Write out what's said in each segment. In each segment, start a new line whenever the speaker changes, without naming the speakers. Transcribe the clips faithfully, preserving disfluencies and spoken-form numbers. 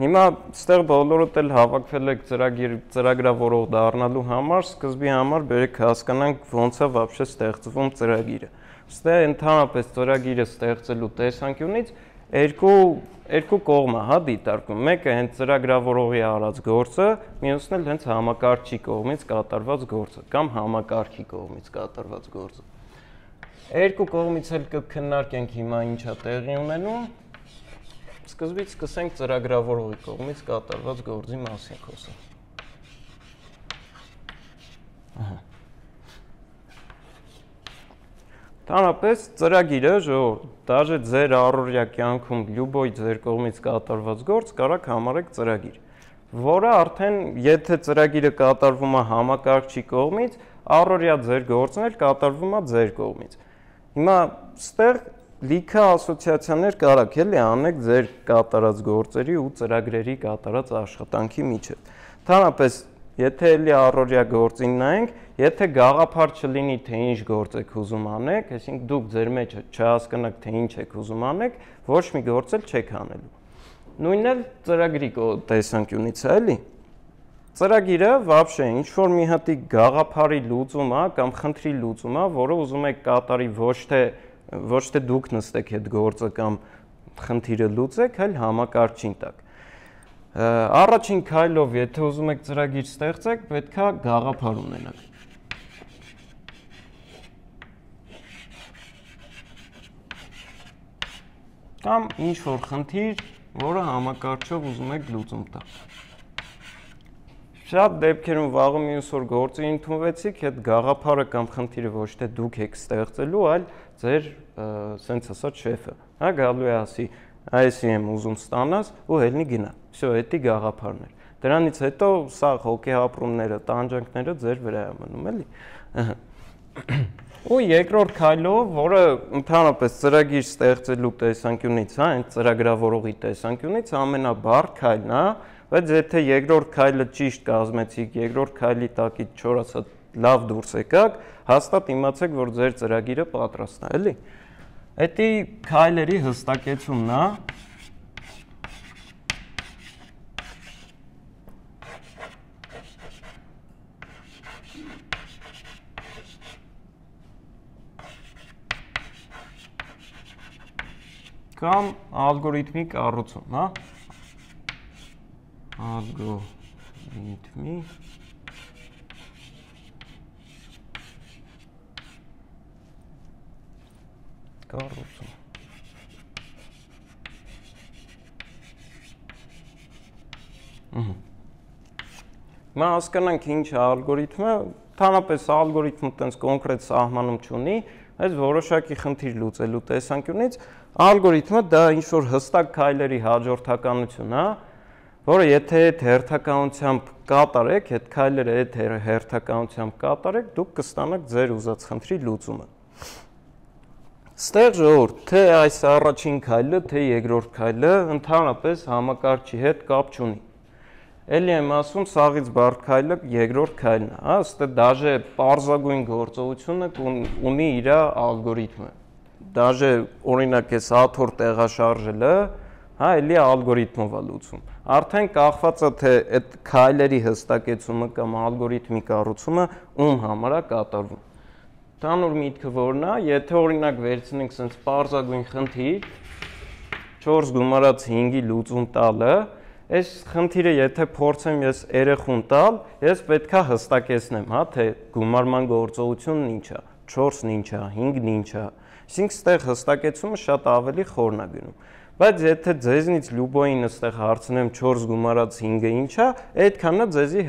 Հիմա ստեղ բոլորդ էլ հավաքվել եք ծրագրավորող դառնալու համար, սկզբի համար բերեք հասկանանք ոնց է вообще ստեղծվում ծրագիրը։ Ստեղ ընդհանրապես ծրագիրը ստեղծելու տեսանկյունից երկու երկու կողմ է, հա, դիտարկում։ Մեկը հենց ծրագրավորողի արած գործը, մյուսն էլ հենց համակարգչի կողմից կատարված գործը կամ համակարգի կողմից կատարված գործը։ Երկու կողմից էլ կքննարկենք հիմա ինչա տեղի ունենում։ Սկզբից սկսենք ծրագրավորողի կողմից կատարված գործի մասին խոսել։ Ահա։ Տանապես ծրագիրը, ժողովուրդ, դաժե ձեր առօրյա կյանքում լյուբոյ ձեր կողմից կատարված գործ կարաք համարեք ծրագիր, որը արդեն եթե ծրագիրը կատարվում է համակարգչի կողմից, առօրյա ձեր գործն էլ կատարվում է ձեր կողմից։ Հիմա ստեղ լիքը ասոցիացիաներ կարաք էլի անեք ձեր կատարած գործերի ու ծրագրերի կատարած աշխատանքի միջև։ Ընդհանրապես, եթե էլի առօրյա գործին նայենք, եթե գաղափար չլինի, թե ինչ գործ եք ուզում անեք, այսինքն դուք ձեր մեջ չհասկանաք, թե ինչ եք ուզում անեք, ոչ մի գործ էլ չեք անելու։ Նույնն էլ ծրագրի տեսանկյունից է, էլի։ Ծրագիրը вообще ինչ որ մի հատի գաղափարի լուծում է կամ խնդրի լուծում է, որը ուզում եք կատարի ոչ թե ոչ թե դուք նստեք այդ գործը կամ խնդիրը լուծեք, այլ համակարգչին տակ։ Առաջին քայլով, եթե ուզում եք ծրագիր ստեղծեք, պետք է գաղափար ունենաք։ Կամ ինչ որ խնդիր, որը համակարգչով ուզում եք լուծում տալ։ Շատ դեպքերում վաղը մյուս օր գործի ընդունվեցիք, այդ գաղափարը կամ խնդիրը ոչ թե դուք եք ստեղծելու, այլ ձեր սենց ասած շեֆը, հա, գալու է ասի, այսի եմ ուզում ստանաս ու հելնի գնա։ Всё, էդի գաղափարն էր։ Դրանից հետո սա հոգեհապրումները, տանջանքները ձեր վրա է մնում, էլի։ Ու երկրորդ քայլով, որը ընդհանրապես ծրագիր ստեղծելու տեսանկյունից, հա, այն ծրագրավորողի տեսանկյունից ամենաբարդ քայլն է, բայց եթե երկրորդ քայլը ճիշտ կազմեցիք, երկրորդ քայլի տակից չորացած լավ դուրս եկաք, հաստատ իմացեք, որ ձեր ծրագիրը պատրաստ է, էլի։ Էդի քայլերի հստակեցումն է։ Կամ ալգորիթմի կառուցում, հա։ Ալգորիթմի կառուցում։ Հիմա հասկանանք ինչ է ալգորիթմը, ընդհանրապես ալգորիթմը տենց կոնկրետ սահմանում չունի, այս որոշակի խնդիր լուծելու տեսանկյունից ալգորիթմը դա ինչ որ հստակ քայլերի հաջորդականություն է, որը եթե այդ հերթականությամբ կատարեք, այդ քայլերը այդ հերթականությամբ կատարեք, դուք կստանաք ձեր ուզած խնդրի լուծումը։ Ստեղ ժողովուրդ, թե այս առաջին քայլը, թե երկրորդ քայլը ընդհանրապես համակարգչի հետ կապ չունի։ Էլի եմ ասում, սաղից բարդ քայլը երկրորդ քայլն է, հա, ստե դաժե պարզագույն գործողությունը ունի իր ալգորիթմը։ Դաժե օրինակ էս աթոռ տեղաշարժելը, հա, էլի ալգորիթմով է լուծում։ Արդեն կախված է թե այդ քայլերի հստակեցումը կամ ալգորիթմի կառուցումը ում համար է կատարվում։ Տանուր միտքը որն է, եթե օրինակ վերցնենք sense պարզագույն խնդիր, չորս գումարած հինգի լուծում տալը, այս խնդիրը եթե փորձեմ ես երեխուն տալ, ես պետք է հստակեցնեմ, հա, թե գումարման գործողությունն ինչ է, չորսն ինչ է, հինգն ինչ է։ Այսինքն ստեղ հստակեցումը շատ ավելի խորն է գնում։ Բայց եթե ձեզնից լյուբոյին այստեղ հարցնեմ չորս գումարած հինգը ինչ է, այդքանն է ձեզի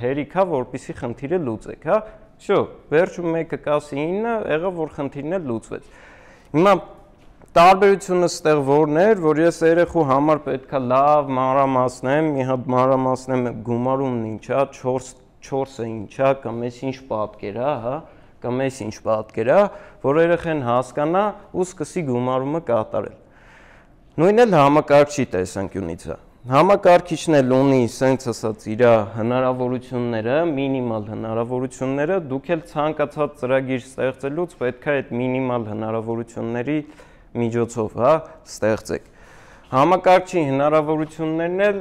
հերիք է, որպեսզի խնդիրը լուծեք, հա։ Շո, վերջում մեկը կասի ինը, եղավ որ խնդիրն էլ լուծվեց։ Հիմա տարբերությունը ստեղ որն էր, որ ես երեխու համար պետք է լավ մանրամասնեմ, մի հատ մանրամասնեմ գումարումն ինչ է, չորսը ինչ է, կամ էս ինչ պատկեր է, հա, կամ էս ինչ պատկեր է, որ երեխան հասկանա ու սկսի գումարումը կատարել։ Նույնն էլ համակարգչի տեսանկյունից է։ Համակարգիչն էլ ունի սենց ասած իր հնարավորությունները, մինիմալ հնարավորությունները, դուք էլ ցանկացած ծրագիր ստեղծելուց պետք է այդ մինիմալ հնարավորությունների միջոցով, հա, ստեղծեք։ Համակարգչի հնարավորություններն էլ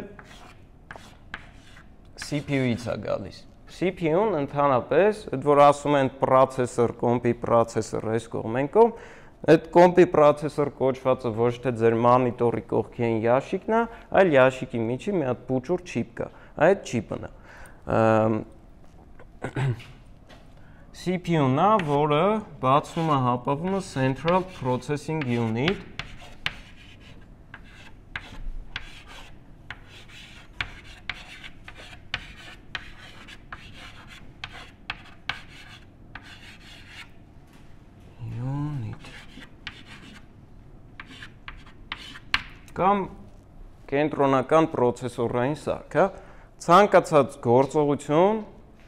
C P U-ից է գալիս։ C P U-ն ընդհանրապես, այդ որ ասում են processor, կոմպի processor, այս կողմեն կողմ, այդ կոմպի processor կոչվածը ոչ թե ձեր մոնիտորի կողքին ящикն է, այլ ящикի միջի մի հատ փուչուր չիպ կա։ Այդ չիպն է։ C P U-ն է, որը բացվում է հապավում է Central Processing Unit։ Կամ կենտրոնական պրոցեսորային սարք, հա, ցանկացած գործողություն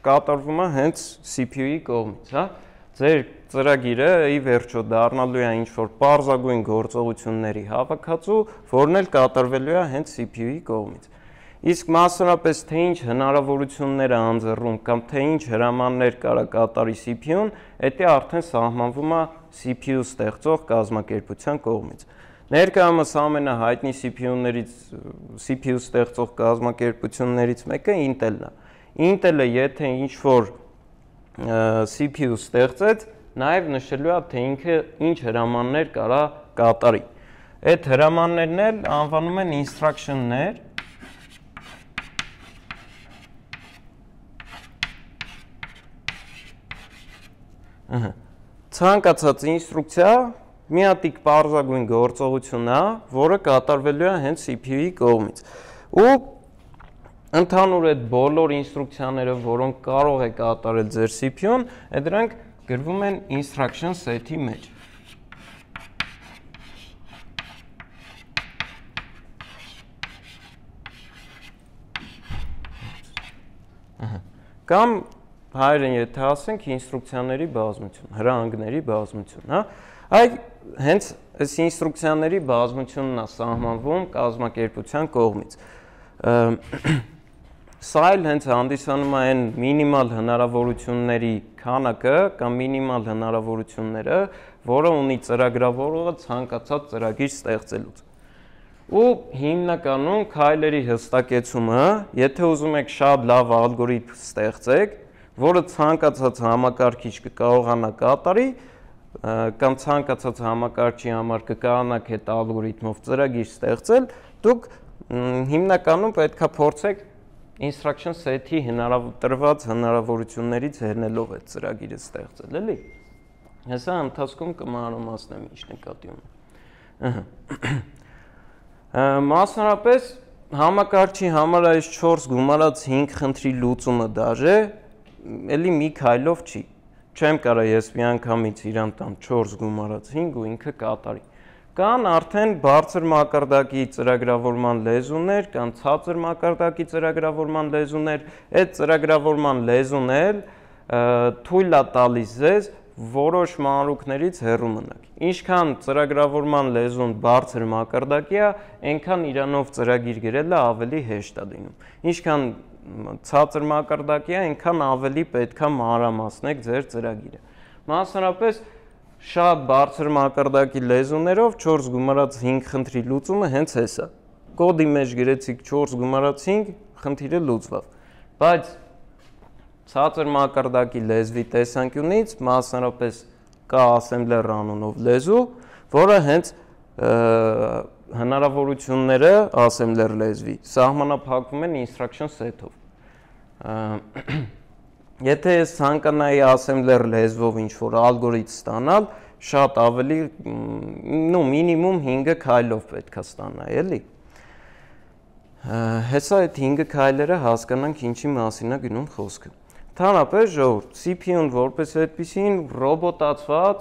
կատարվում է հենց C P U-ի կողմից, հա։ Ձեր ծրագիրը ի վերջո դառնալու է ինչ-որ պարզագույն գործողությունների հավաքածու, որն էլ կատարվելու է հենց C P U-ի կողմից։ Իսկ մասնավորապես թե ինչ հնարավորություններ է անձեռում կամ թե ինչ հրամաններ կարա կատարի C P U-ն, դա արդեն սահմանվում է C P U ստեղծող կազմակերպության կողմից։ Ներկայումս ամենահայտնի C P U-ներից C P U ստեղծող կազմակերպություններից մեկը Intel-ն է։ Intel-ը եթե ինչ-որ C P U ստեղծեց, նաև նշելու է, թե ինքը ինչ հրամաններ կարա կատարի։ Այդ հրամաններն էլ անվանում են instruction-ներ։ Ցանկացած ինստրուկցիա մի հատիկ պարզագույն գործողություն է, որը կատարվելու է հենց C P U-ի կողմից։ Ու ընդհանուր այդ բոլոր ինստրուկցիաները, որոնք կարող է կատարել ձեր C P U-ն, դրանք գրվում են instruction set-ի մեջ։ Կամ հայերեն եթե ասենք ինստրուկցիաների բազմություն, հրահանգների բազմություն, հա։ Այ հենց այս ինստրուկցիաների բազմությունն է սահմանվում կազմակերպության կողմից։ Սա էլ հենց հանդիսանում է այն մինիմալ հնարավորությունների քանակը կամ մինիմալ հնարավորությունները, որը ունի ծրագրավորողը ցանկացած ծրագիր ստեղծելուց։ Ու հիմնականում քայլերի հստակեցումը, եթե ուզում եք շատ լավ ալգորիթմ ստեղծեք, որը ցանկացած համակարգիչ կկարողանա կատարի, կամ ցանկացած համակարգչի համար կկարողանաք այդ ալգորիթմով ծրագիր ստեղծել, դուք հիմնականում պետք է փորձեք instruction set-ի տրված հնարավորություններից ելնելով այդ ծրագիրը ստեղծել, էլի։ Հեսա ընթացքում կմանրամասնեմ ինչ նկատի ունեմ։ Մասնավորապես համակարգչի համար այս չորս գումարած հինգ խնդրի լուծումը դաժե էլի մի քայլով չի։ Չեմ կարա ես մի անգամից իրան տամ չորս գումարած հինգ ու ինքը կատարի։ Կան արդեն բարձր մակարդակի ծրագրավորման լեզուներ, կան ցածր մակարդակի ծրագրավորման լեզուներ, այդ ծրագրավորման լեզուն էլ թույլ է տալիս ձեզ որոշ մանրուքներից հեռու մնաք։ Ինչքան ծրագրավորման լեզուն բարձր մակարդակի է, այնքան իրանով ծրագիր գրելը ավելի հեշտ է լինում։ Ինչքան ցածր մակարդակի է, այնքան ավելի պետք է մանրամասնեք ձեր ծրագիրը։ Մասնավորապես շատ բարձր մակարդակի լեզուներով չորս գումարած հինգ խնդրի լուծումը հենց էս է։ Կոդի մեջ գրեցիք չորս գումարած հինգ, խնդիրը լուծվավ։ Բայց ցածր մակարդակի լեզվի տեսանկյունից մասնավորապես կա assembler անունով լեզու, որը հենց հնարավորությունները assembler լեզվի սահմանափակվում են instruction set-ով։ Եթե ես ցանկանայի assembler լեզվով ինչ-որ ալգորիթմ ստանալ, շատ ավելի, նո մինիմում հինգ քայլով պետք է ստանայի, էլի։ Հեսա այդ հինգ քայլերը հասկանանք ինչի մասին է գնում խոսքը։ Ընդհանրապես ժողովուրդ, C P U-ն որպես այդպիսին ռոբոտացված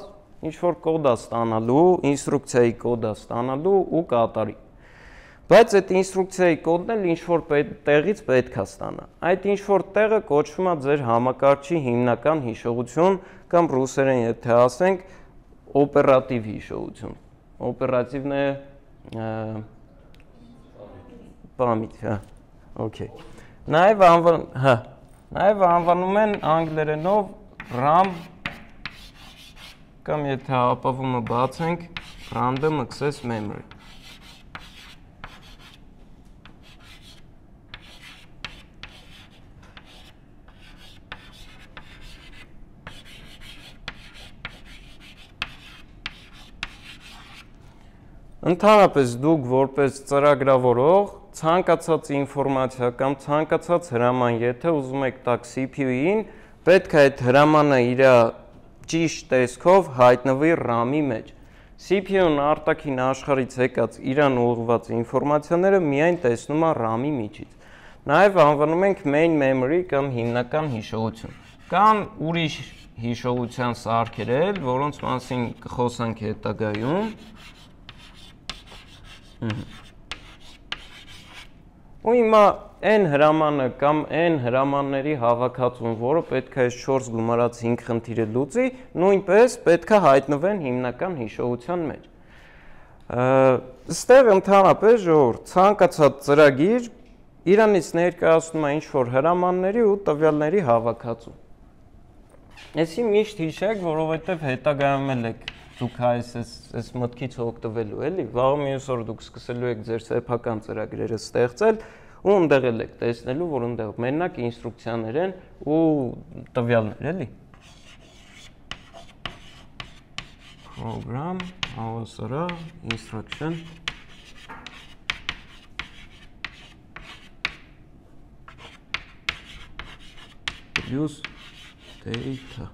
ինչ-որ կոդ է ստանալու, ինստրուկցիայի կոդ է ստանալու ու կատարի։ Բայց այդ ինստրուկցիայի կոդն էլ ինչ-որ տեղից պետք է ստանա։ Այդ ինչ-որ տեղը կոչվում է ձեր համակարգչի հիմնական հիշողություն կամ ռուսերեն եթե ասենք օպերատիվ հիշողություն։ Օպերատիվն է պամիտ, հա, օքեյ։ Նաև անվան, հա, նաև անվանում են անգլերենով RAM կամ եթե ապավումը բացենք Random Access Memory։ Ընդհանրապես դուք որպես ծրագրավորող ցանկացած ինֆորմացիա կամ ցանկացած հրաման, եթե ուզում եք տաք C P U-ին, պետք է այդ հրամանը իր ճիշտ տեսքով հայտնվի RAM-ի մեջ։ C P U-ն արտաքին աշխարհից եկած իրան ուղղված ինֆորմացիաները միայն տեսնում է RAM-ի միջից։ Նաև անվանում ենք main memory կամ հիմնական հիշողություն։ Կան ուրիշ հիշողության սարքեր էլ, որոնց մասին կխոսանք հետագայում։ Ու հիմա n հրամանը կամ n հրամանների հավաքածուն, որը պետք է չորս գումարած հինգ խնդիրը լուծի, նույնպես պետք է հայտնվեն հիմնական հիշողության մեջ։ Այստեղ ընդհանրապես ժողովուրդ ցանկացած ծրագիր իրանից ներկայացնում է ինչ-որ հրամանների ու տվյալների հավաքածու։ Այսի միշտ հիշեք, որովհետև հետագայում էլ եք դուք այս այս մտքից օգտվելու էլի, վաղ մյուս օր դուք սկսելու եք ձեր սեփական ծրագրերը ստեղծել ու ընդեղ էլ եք տեսնելու, որ ընդեղ մենակ ինստրուկցիաներ են ու տվյալներ, էլի։ Program, հավասարա, instruction use data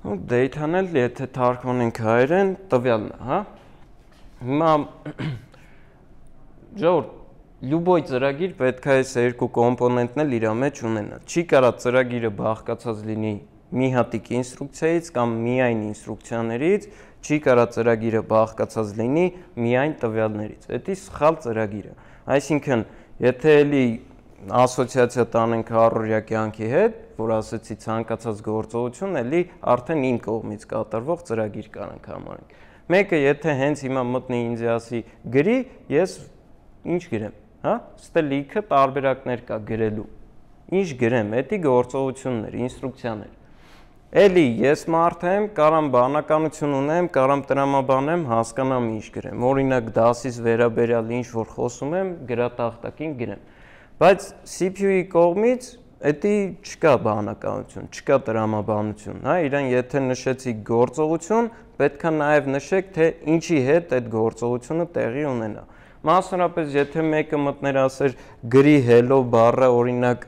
Data-ն էլ եթե թարգմանենք հայերեն տվյալն է, հա։ Հիմա ժողովուրդ, լյուբոյ ծրագիր պետք է այս երկու կոմպոնենտն էլ իր մեջ ունենա։ Չի կարա ծրագիրը բաղկացած լինի մի հատիկ ինստրուկցիայից կամ միայն ինստրուկցիաներից, չի կարա ծրագիրը բաղկացած լինի միայն տվյալներից։ Դա սխալ ծրագիր է։ Այսինքն, եթե էլի ասոցիացիա տանենք առօրյա կյանքի հետ, որ ասեցի ցանկացած գործողություն, էլի արդեն իմ կողմից կատարվող ծրագիր կանենք համարենք։ Մեկը եթե հենց հիմա մտնի ինձ ասի գրի, ես ինչ գրեմ, հա? Ստե լիքը տարբերակներ կա գրելու։ Ինչ գրեմ, դա գործողություններ, ինստրուկցիաներ։ Էլի ես մարդ եմ, կարամ բանականություն ունեմ, կարամ տրամաբանեմ, հասկանամ ինչ գրեմ։ Օրինակ դասից վերաբերյալ ինչ որ խոսում եմ, գրատախտակին գրեմ։ Բայց C P U-ի կողմից դա չկա բանականություն, չկա տրամաբանություն, հա, իրան եթե նշեցիք գործողություն, պետք է նաև նշեք, թե ինչի հետ այդ գործողությունը տեղի ունենա։ Մասնավորապես, եթե մեկը մտներ ասեր գրի hello բառը օրինակ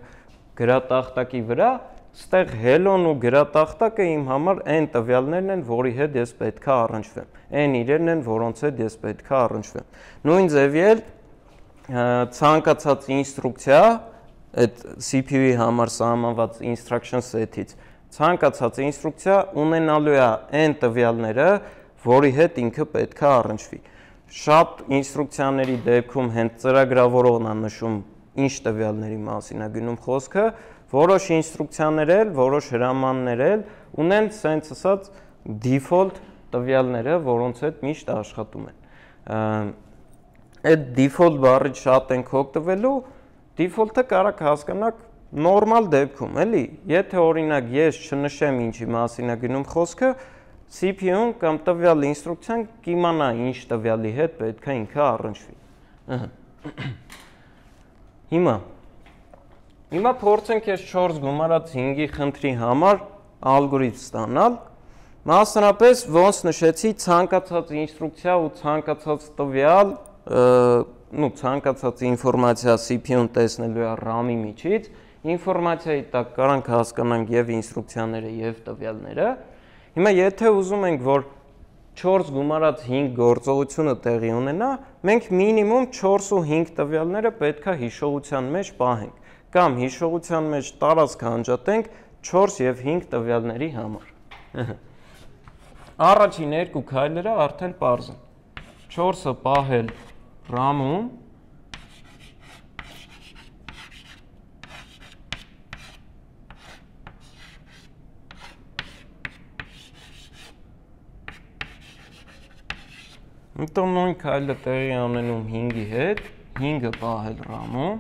գրատախտակի վրա, ստեղ hello-ն ու գրատախտակը իմ համար այն տվյալներն են, որի հետ ես պետք է առնչվեմ։ Այն իրերն են, որոնց հետ ես պետք է առնչվեմ։ Նույն ձևի էլ ցանկացած ինստրուկցիա այդ C P U-ի համար սահմանված instruction set-ից ցանկացած ինստրուկցիա ունենալու է այն տվյալները, որի հետ ինքը պետք է առնչվի։ Շատ ինստրուկցիաների դեպքում հենց ծրագրավորողն է նշում ինչ տվյալների մասին է գնում խոսքը, որոշ ինստրուկցիաներ էլ, որոշ հրամաններ էլ ունեն sense ասած default տվյալները, որոնց հետ միշտ աշխատում են։ Այդ default բառից շատ ենք օգտվելու, default-ը կարաք հասկանաք նորմալ դեպքում, էլի, եթե օրինակ ես չնշեմ ինչի մասին է գնում խոսքը, C P U-ն կամ տվյալ ինստրուկցիան կիմանա ինչ տվյալի հետ պետք է ինքը առնչվի։ Հիմա Հիմա փորձենք այս չորս գումարած հինգի խնդրի համար ալգորիթմ ստանալ։ Մասնավորապես ոնց նշեցի ցանկացած ինստրուկցիա ու ցանկացած տվյալ ну ցանկացած ինֆորմացիա C P U-ն տեսնելու է RAM-ի միջից, ինֆորմացիայի տակ կարանք հասկանանք եւ ինստրուկցիաները եւ տվյալները։ Հիմա եթե ուզում ենք, որ չորս գումարած հինգ գործողությունը տեղի ունենա, մենք մինիմում չորս ու հինգ տվյալները պետք է հիշողության մեջ պահենք, կամ հիշողության մեջ տարածք անջատենք չորս եւ հինգ տվյալների համար։ Առաջին երկու քայլերը արդեն պարզ են։ չորսը պահել RAM-ում, Հետո նույն քայլը տեղի ունենում հինգի հետ, հինգը պահել RAM-ում,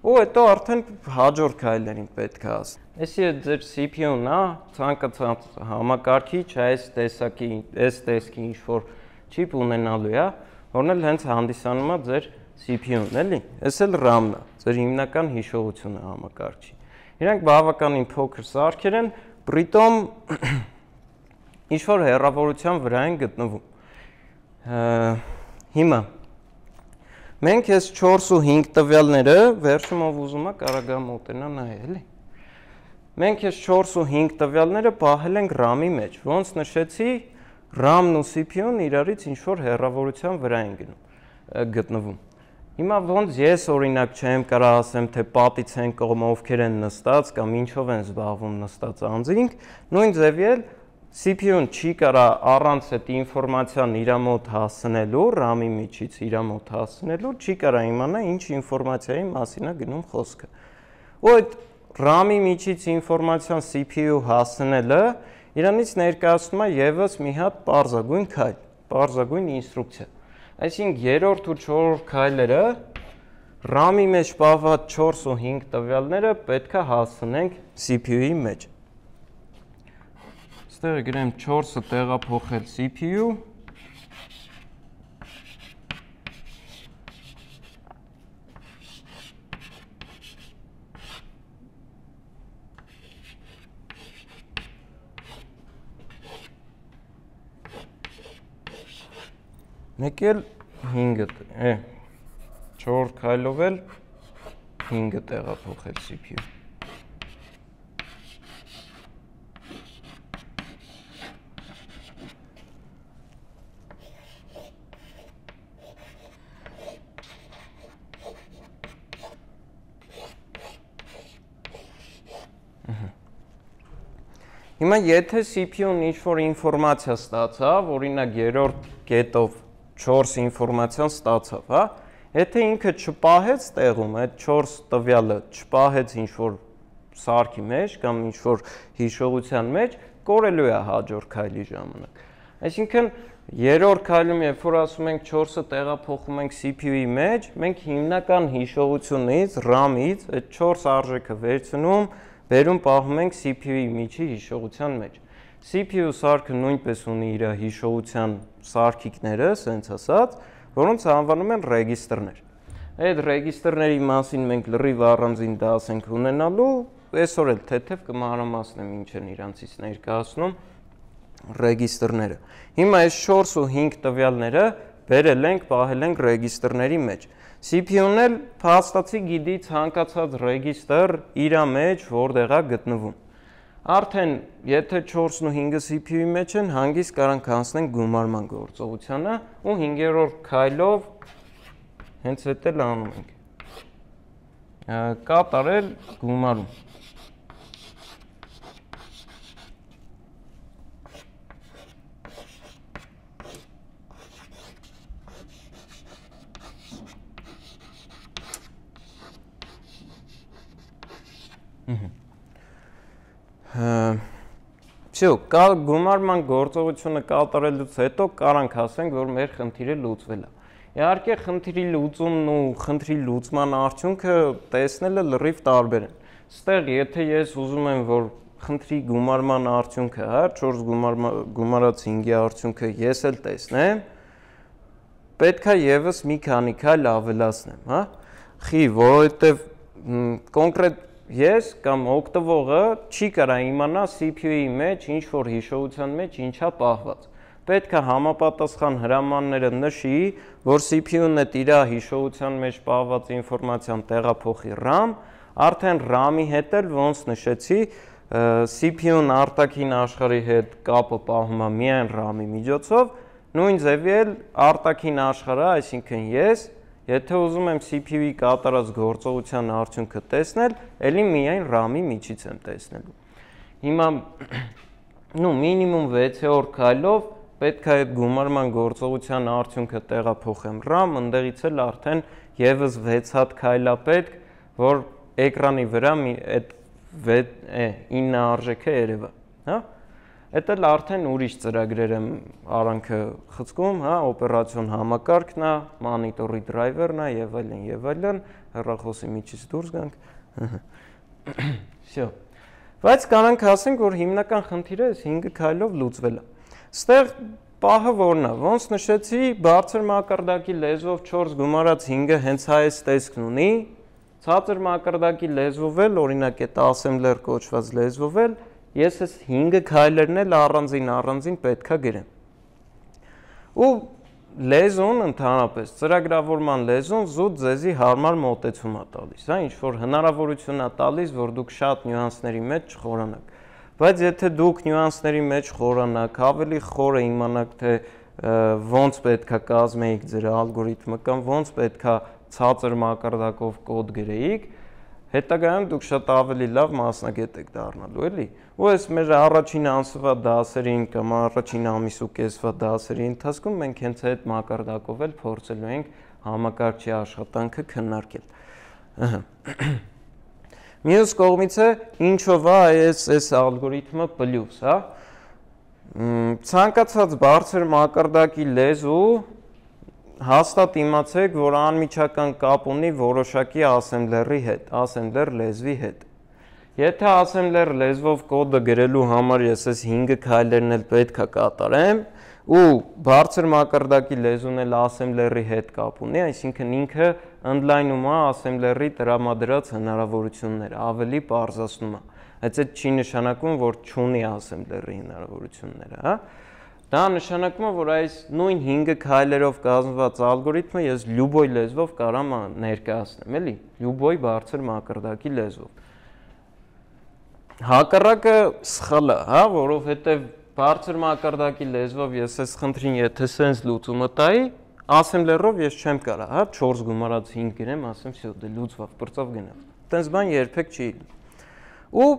ու հետո արդեն հաջորդ քայլերին պետք է ասել։ Էսի է ձեր C P U-ն է, ցանկացած համակարգիչ այս տեսակի, այս տեսքի ինչ-որ չիպ ունենալու է, որն էլ հենց հանդիսանում է ձեր C P U-ն, էլի, այս էլ RAM-ն է, ձեր հիմնական հիշողությունը համակարգչի։ Իրանք բավականին փոքր սարքեր են, բրիտոմ ինչ-որ հեռավորության վրա են գտնվում։ Հիմա մենք այս չորս ու հինգ տվյալները վերջում ով ուզում է կարող է մոտենա նայել, էլի։ Մենք այս չորս ու հինգ տվյալները պահել ենք RAM-ի մեջ, ոնց նշեցի, RAM-ն ու C P U-ն իրարից ինչ-որ հեռավորության վրա են գտնվում։ Հիմա ոնց ես օրինակ չեմ կարող ասեմ, թե պատից են կողմ ովքեր են նստած կամ ինչով են զբաղվում նստած անձինք, նույն ձևի C P U-ն չի կարող առանց այդ ինֆորմացիան իր մոտ հասցնելու, RAM-ի միջից իր մոտ հասցնելու, չի կարող իմանա ինչ ինֆորմացիայի մասին է գնում խոսքը։ Ու այդ RAM-ի միջից ինֆորմացիան C P U հասցնելը իրանից ներկայացնում է եւս մի հատ պարզագույն քայլ, պարզագույն ինստրուկցիա։ Այսինքն երրորդ ու չորրորդ քայլերը RAM-ի մեջ պահված չորս ու հինգ տվյալները պետք է հասցնենք C P U-ի մեջ։ Ստեղ գրեմ չորսը տեղափոխել C P U, մեկ էլ հինգը, է, չորրորդ քայլով էլ հինգը տեղափոխել C P U։ Հիմա եթե C P U-ն ինչ-որ ինֆորմացիա ստացավ, օրինակ երրորդ կետով չորս ինֆորմացիան ստացավ, հա, եթե ինքը չպահեց տեղում, այդ չորս տվյալը չպահեց ինչ-որ սարքի մեջ կամ ինչ-որ հիշողության մեջ, կորելու է հաջորդ քայլի ժամանակ։ Այսինքն երրորդ քայլում, երբ որ ասում ենք չորսը տեղափոխում ենք C P U-ի մեջ, մենք հիմնական հիշողությունից, RAM-ից այդ չորս արժեքը վերցնում, բերում պահում ենք C P U-ի միջի հիշողության մեջ։ C P U սարքը նույնպես ունի իր հիշողության սարքիկները, սենց ասած, որոնց անվանում են ռեգիստրներ։ Այդ ռեգիստրների մասին մենք լրիվ առանձին դաս ենք ունենալու, այսօր էլ թեթև կմանրամասնեմ ինչ են իրանցից ներկայացնում ռեգիստրները։ Հիմա այս չորս ու հինգ տվյալները բերել ենք, պահել ենք ռեգիստրների մեջ։ C P U-ն էլ փաստացի գիտի ցանկացած ռեգիստր իր մեջ որտեղ է գտնվում։ Արդեն եթե չորսն ու հինգը C P U-ի մեջ են, հանգիստ կարանք անցնենք գումարման գործողությանը ու հինգերորդ քայլով հենց այդ էլ անում ենք։ Կատարել գումարում։ Всё, գումարման գործողությունը կատարելուց հետո կարանք ասենք, որ մեր խնդիրը լուծվել է։ Իհարկե խնդրի լուծումն ու խնդրի լուծման արդյունքը տեսնելը լրիվ տարբեր են։ Ստեղ եթե ես ուզում եմ, որ խնդրի գումարման արդյունքը, հա, չորս գումարած հինգի արդյունքը ես էլ տեսնեմ, պետք է եւս մի քանի քայլ ավելացնեմ, հա։ Խի, որովհետեւ կոնկրետ ես կամ օգտվողը չի կարող իմանա C P U-ի մեջ ինչ որ հիշողության մեջ ինչա պահված։ Պետք է համապատասխան հրամանները նշի, որ C P U-ն այդ իր հիշողության մեջ պահված ինֆորմացիան տեղափոխի RAM, արդեն RAM-ի հետ էլ ոնց նշեցի, C P U-ն արտաքին աշխարհի հետ կապը պահում է միայն RAM-ի միջոցով, նույն ձևի էլ արտաքին աշխարհը, այսինքն ես, եթե ուզում եմ C P U-ի կատարած գործողության արդյունքը տեսնել, ելի միայն RAM-ի միջից եմ տեսնելու։ Հիմա նու մինիմում վեցերորդ քայլով պետք է այդ գումարման գործողության արդյունքը տեղափոխեմ RAM, ընդեղից էլ արդեն եւս վեց հատ քայլ է պետք, որ էկրանի վրա այդ ինը արժեքը երևա, հա։ Այդ էլ արդեն ուրիշ ծրագրեր եմ արանքը խցկում, հա, օպերացիոն համակարգն է, մանիտորի դրայվերն է եւ այլն եւ այլն, հեռախոսի միջից դուրս գանք։ Всё։ Բայց կանանք ասենք, որ հիմնական խնդիրը այս հինգ քայլով լուծվել է։ Ստեղ պահը որն է, ոնց նշեցի, բարձր մակարդակի լեզվով չորս գումարած հինգը հենց այս տեսքն ունի, ցածր մակարդակի լեզվով էլ, օրինակ այդ ասեմբլեր կոչված լեզվով էլ, ես այս հինգը քայլերն էլ առանձին առանձին պետքա գրեմ։ Ու լեզուն ընդհանրապես, ծրագրավորման լեզուն զուտ ձեզի հարմար մոտեցում է տալիս, հա, ինչ որ հնարավորություն է տալիս, որ դուք շատ նյուանսների մեջ չխորանաք։ Բայց եթե դուք նյուանսների մեջ խորանաք, ավելի խորը իմանաք, թե ոնց պետքա կազմեիք ձեր ալգորիթմը կամ ոնց պետքա ցածր մակարդակով կոդ գրեիք, հետագայում դուք շատ ավելի լավ մասնագետ եք դառնալու, էլի։ Ու այս մեր առաջին ամսվա դասերին կամ առաջին ամիս ու կեսվա դասերի ընթացքում մենք հենց այդ մակարդակով էլ փորձելու ենք համակարգչի աշխատանքը քննարկել։ Ահա։ Մյուս կողմից է ինչով է այս այս ալգորիթմը պլյուս, հա։ Ցանկացած բարձր մակարդակի լեզու հաստատ իմացեք, որ անմիջական կապ ունի որոշակի ասեմբլերի հետ, ասեմբլեր լեզվի հետ։ Եթե ասեմբլեր լեզվով կոդը գրելու համար ես այս հինգը քայլերն էլ պետք է կատարեմ, ու բարձր մակարդակի լեզուն էլ ասեմբլերի հետ կապ ունի, այսինքն ինքը ընդլայնում է ասեմբլերի տրամադրած հնարավորությունները, ավելի պարզացնում է։ Բայց այդ չի նշանակում, որ չունի ասեմբլերի հնարավորությունները, հա։ Դա նշանակում է, որ այս նույն հինգը քայլերով կազմված ալգորիթմը ես լյուբոյ լեզվով կարամ ներկայացնեմ, էլի, լյուբոյ բարձր մակարդակի լեզվով։ Հակառակը սխալ է, հա, որովհետև բարձր մակարդակի լեզվով ես այս խնդրին եթե սենց լուծումը տայի, ասեմբլերով ես չեմ կարա, հա, չորս գումարած հինգ գրեմ, ասեմ, всё, դե լուծվավ, բրծավ գնաց։ Տենց բան երբեք չի լինի։ Ու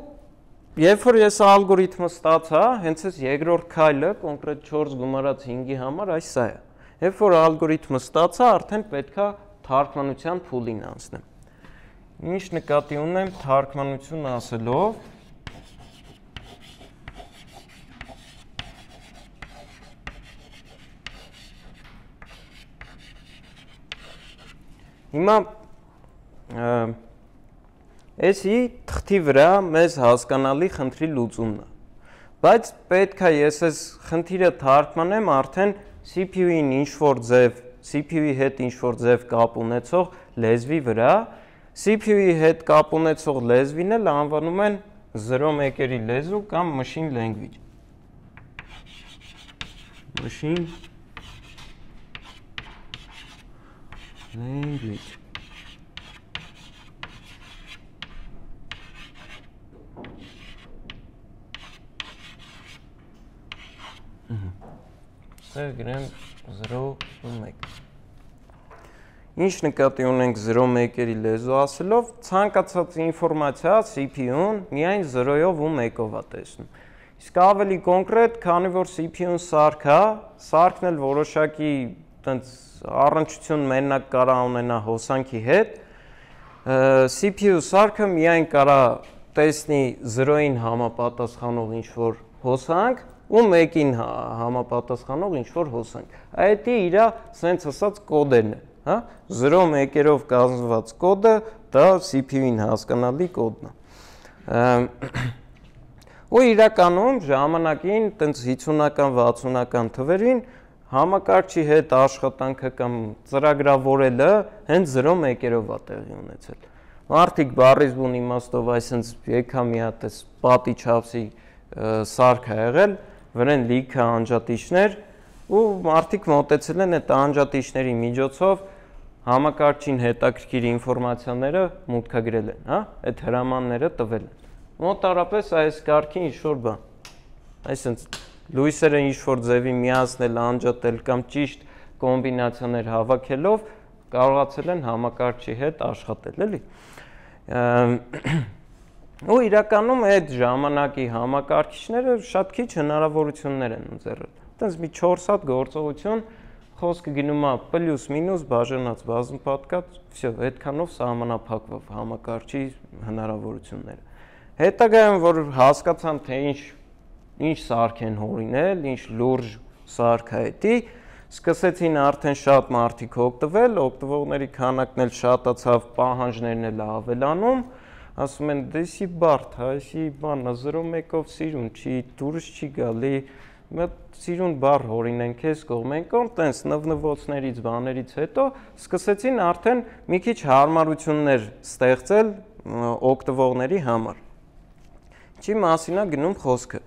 երբ որ ես ալգորիթմը ստացա, հենց այս երկրորդ քայլը, կոնկրետ չորս գումարած հինգի համար այս սա է։ Երբ որ ալգորիթմը ստացա, արդեն պետքա թարգմանության փուլին անցնեմ։ Ինչ նկատի ունեմ թարգմանություն ասելով, հիմա էսի թղթի վրա մեզ հասկանալի խնդրի լուծումն է, բայց պետք է ես այս խնդիրը թարգմանեմ արդեն C P U-ին ինչ-որ ձև, C P U-ի հետ ինչ-որ ձև կապ ունեցող լեզվի վրա, C P U-ի հետ կապ ունեցող լեզվին էլ անվանում են զրո մեկերի լեզու կամ machine language։ Machine language։ Սա գրեմ զրո ու մեկ։ Ինչ նկատի ունենք զրո մեկերի լեզու ասելով, ցանկացած ինֆորմացիա C P U-ն միայն զրոյով ու մեկով է տեսնում։ Իսկ ավելի կոնկրետ, քանի որ C P U-ն սարք է, սարքն էլ որոշակի տենց առնչություն մենակ կարա ունենա հոսանքի հետ, C P U սարքը միայն կարա տեսնի զրոյին համապատասխանող ինչ-որ հոսանք ու մեկին համապատասխանող ինչ-որ հոսանք։ Այդ իր սենց ասած կոդերն են, հա, զրո մեկերով կազմված կոդը դա C P U-ին հասկանալի կոդն է։ Ու իրականում ժամանակին տենց հիսունական վաթսունական թվերին համակարգչի հետ աշխատանքը կամ ծրագրավորելը հենց զրո մեկերով է տեղի ունեցել։ Մարդիկ բառից բուն իմաստով այսպես եկա մի հատ էս պատի չափսի սարք ա եղել, վրան լիքը անջատիչներ ու մարդիկ մոտեցել են այդ անջատիչների միջոցով համակարգչին հետաքրքիր ինֆորմացիաները մուտքագրել են, հա, այդ հրամանները տվել են։ Մոտարապես այս կարգի ինչ-որ բան, այսպես լույսերը ինչ-որ ձևի միացնել, անջատել կամ ճիշտ կոմբինացիաներ հավաքելով կարողացել են համակարգչի հետ աշխատել, էլի։ Ու իրականում այդ ժամանակի համակարգիչները շատ քիչ հնարավորություններ են ընձեռել։ Այդպես մի չորս հատ գործողություն, խոսքը գնում է պլյուս մինուս բաժանած բազմապատկած, всё, այդքանով սահմանափակվող համակարգչի հնարավորությունները։ Հետագայում որ հասկացան, թե ինչ ինչ սարք են հորինել, ինչ լուրջ սարք է դա, սկսեցին արդեն շատ մարդիկ օգտվել, օգտվողների քանակն էլ շատացավ, պահանջներն էլ ավելանում, ասում են դեսի բարդ, այսի բանա զրո մեկով սիրուն չի, դուրս չի գալի, Մտ սիրուն բառ հորինեն քեզ կողմեն կողմ, տենց նվնվոցներից բաներից հետո սկսեցին արդեն մի քիչ հարմարություններ ստեղծել օգտվողների համար։ Ինչի մասին է գնում խոսքը։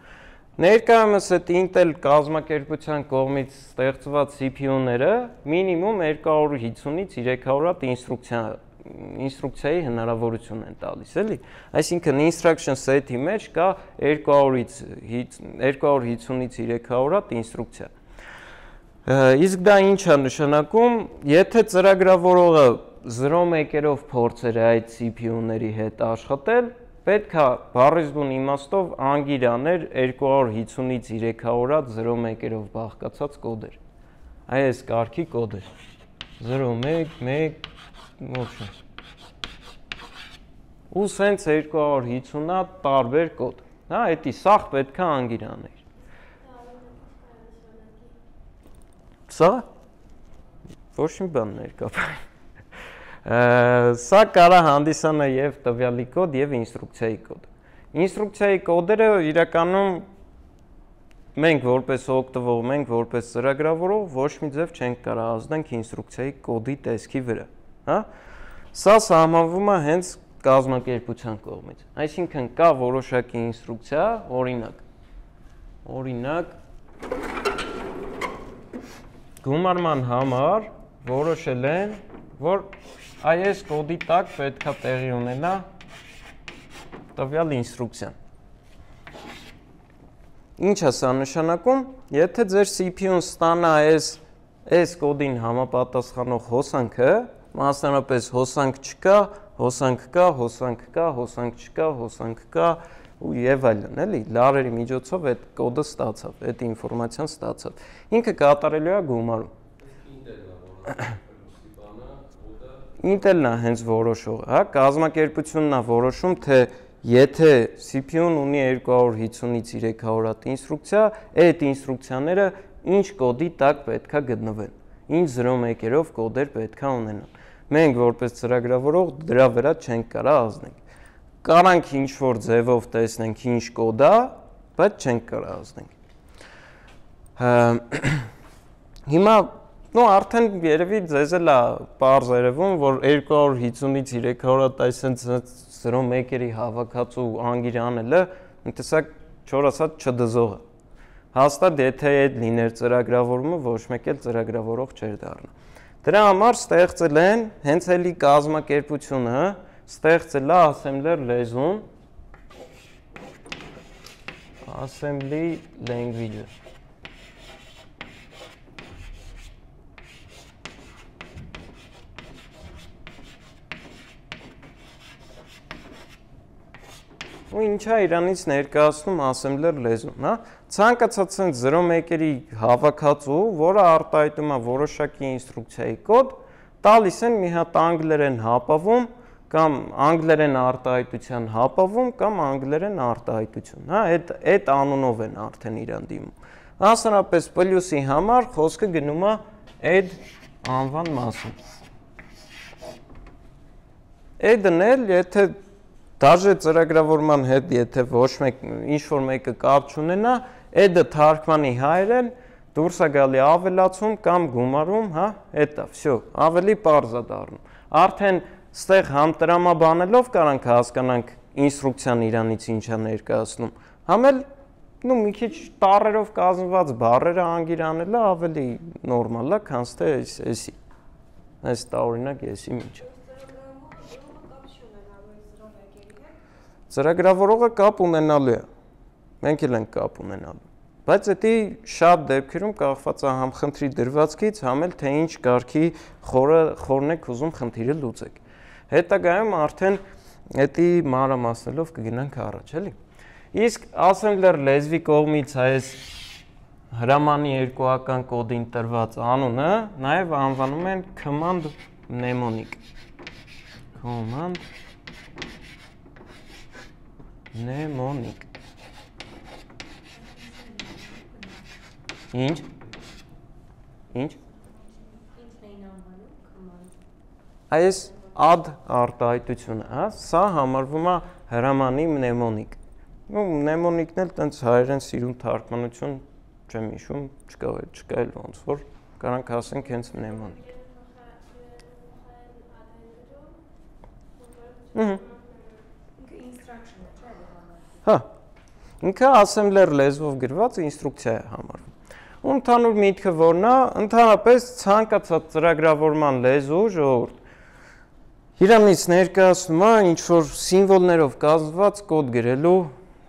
Ներկայումս այդ Intel կազմակերպության կողմից ստեղծված C P U-ները մինիմում երկու հարյուր հիսունից երեք հարյուր հատ ինստրուկցիա ինստրուկցիայի հնարավորություն են տալիս, էլի։ Այսինքն instruction set-ի մեջ կա երկու հարյուր հիսունից երեք հարյուր հատ ինստրուկցիա։ Իսկ դա ինչ է նշանակում, եթե ծրագրավորողը զրո մեկերով փորձեր այդ C P U-ների հետ աշխատել, պետք է բառեզբուն իմաստով անգիր աներ երկու հարյուր հիսունից երեք հարյուր հատ զրո մեկերով բաղկացած կոդեր։ Այս կարգի կոդեր։ զրո մեկ մեկ ոչ։ Ու սենց երկու հարյուր հիսուն հատ տարբեր կոդ։ Հա, էդի սաղ պետք է անգիր աներ։ Սա ոչ մի բան ներկայացնում։ Սա կարա հանդիսանա եւ տվյալի կոդ եւ ինստրուկցիայի կոդ։ Ինստրուկցիայի կոդերը իրականում մենք որպես օգտվող, մենք որպես ծրագրավորող ոչ մի ձև չենք կարող ազդենք ինստրուկցիայի կոդի տեսքի վրա, հա։ Սա սահմանվում է հենց կազմակերպության կողմից։ Այսինքն կա որոշակի ինստրուկցիա, օրինակ։ Օրինակ գումարման համար որոշել են, որ այս կոդի տակ պետք է տեղի ունենա տվյալ ինստրուկցիան։ Ինչ է սա նշանակում, եթե ձեր C P U-ն ստանա այս այս կոդին համապատասխանող հոսանքը, մասնավորապես հոսանք չկա, հոսանք կա, հոսանք կա, հոսանք չկա, հոսանք կա ու եւ այլն, էլի, լարերի միջոցով այդ կոդը ստացավ, այդ ինֆորմացիան ստացավ։ Ինքը կատարելու է գումարում։ Intel-ն է հենց որոշողը, հա, կազմակերպությունն է որոշում, թե եթե C P U-ն ունի երկու հարյուր հիսունից երեք հարյուր հատ ինստրուկցիա, այդ ինստրուկցիաները ինչ կոդի տակ պետք է գտնվեն, ինչ զրո մեկերով կոդեր պետք է ունենան։ Մենք որպես ծրագրավորող դրա վրա չենք կարող ազդենք։ Կարանք ինչ-որ ձևով տեսնենք ինչ կոդ է, բայց չենք կարող ազդենք։ Հիմա նո արդեն երևի ձեզ էլ է պարզ երևում, որ երկու հարյուր հիսունից երեք հարյուր հատ այսենց զրո մեկերի հավաքածու անգիր անելը մի տեսակ չոր ասած չդզող է։ Հաստատ եթե այդ լիներ ծրագրավորումը, ոչ մեկ էլ ծրագրավորող չէր դառնա։ Դրա համար ստեղծել են հենց էլի կազմակերպությունը, ստեղծել է assembler լեզուն, assembly language-ը։ Ու ինչ է իրանից ներկայացնում assembler լեզուն, հա։ Ցանկացած ցենց զրո մեկերի հավաքածու, որը արտահայտում է որոշակի ինստրուկցիայի կոդ, տալիս են մի հատ անգլերեն հապավում կամ անգլերեն արտահայտության հապավում կամ անգլերեն արտահայտություն, հա, այդ այդ անունով են արդեն իրան դիմում։ Մասնավորապես պլյուսի համար խոսքը գնում է add անվան մասին։ Add-ն էլ եթե Դաժե ծրագրավորման հետ, եթե ոչ մեկ ինչ-որ մեկը կապ չունենա, add-ը թարգմանի հայերեն, դուրս է գալի ավելացում կամ գումարում, հա, էտա, всё, ավելի պարզ է դառնում։ Արդեն ստեղ համտրամաբանելով կարանք հասկանանք ինստրուկցիան իրանից ինչ է ներկայացնում։ Համ էլ, նու մի քիչ տառերով կազմված բառերը անգիր անելը ավելի նորմալ է, քան թե էսի։ Այս տարօրինակ էսի ինչ է։ Ծրագրավորողը կապ ունենալու է, մենք էլ ենք կապ ունենալու, բայց դա շատ դեպքերում կախված է համ խնդրի դրվածքից, համ էլ թե ինչ կարգի խորն եք ուզում խնդիրը լուծեք։ Հետագայում արդեն դա մանրամասնելով կգնանք առաջ, էլի։ Իսկ assembler լեզվի կողմից այս հրամանի երկուական կոդին տրված անունը նաև անվանում են command mnemonic։ Command Mnemonic։ Ինչ։ Ինչ։ Այս add արտահայտությունը, հա, սա համարվում է հրամանի mnemonic։ Ու mnemonic-ն էլ տենց հայերեն սիրուն թարգմանություն չեմ հիշում, չկա չկա էլ ոնց որ կարանք ասենք հենց մնեմոնիկ։ Ահա։ Հա։ Ինքը assembler լեզվով գրված ինստրուկցիա է համարվում։ Ու ընդհանուր միտքը որն է, ընդհանրապես ցանկացած ծրագրավորման լեզու ժողովուրդ իրանից ներկայացնում է ինչ որ սիմվոլներով կազմված կոդ գրելու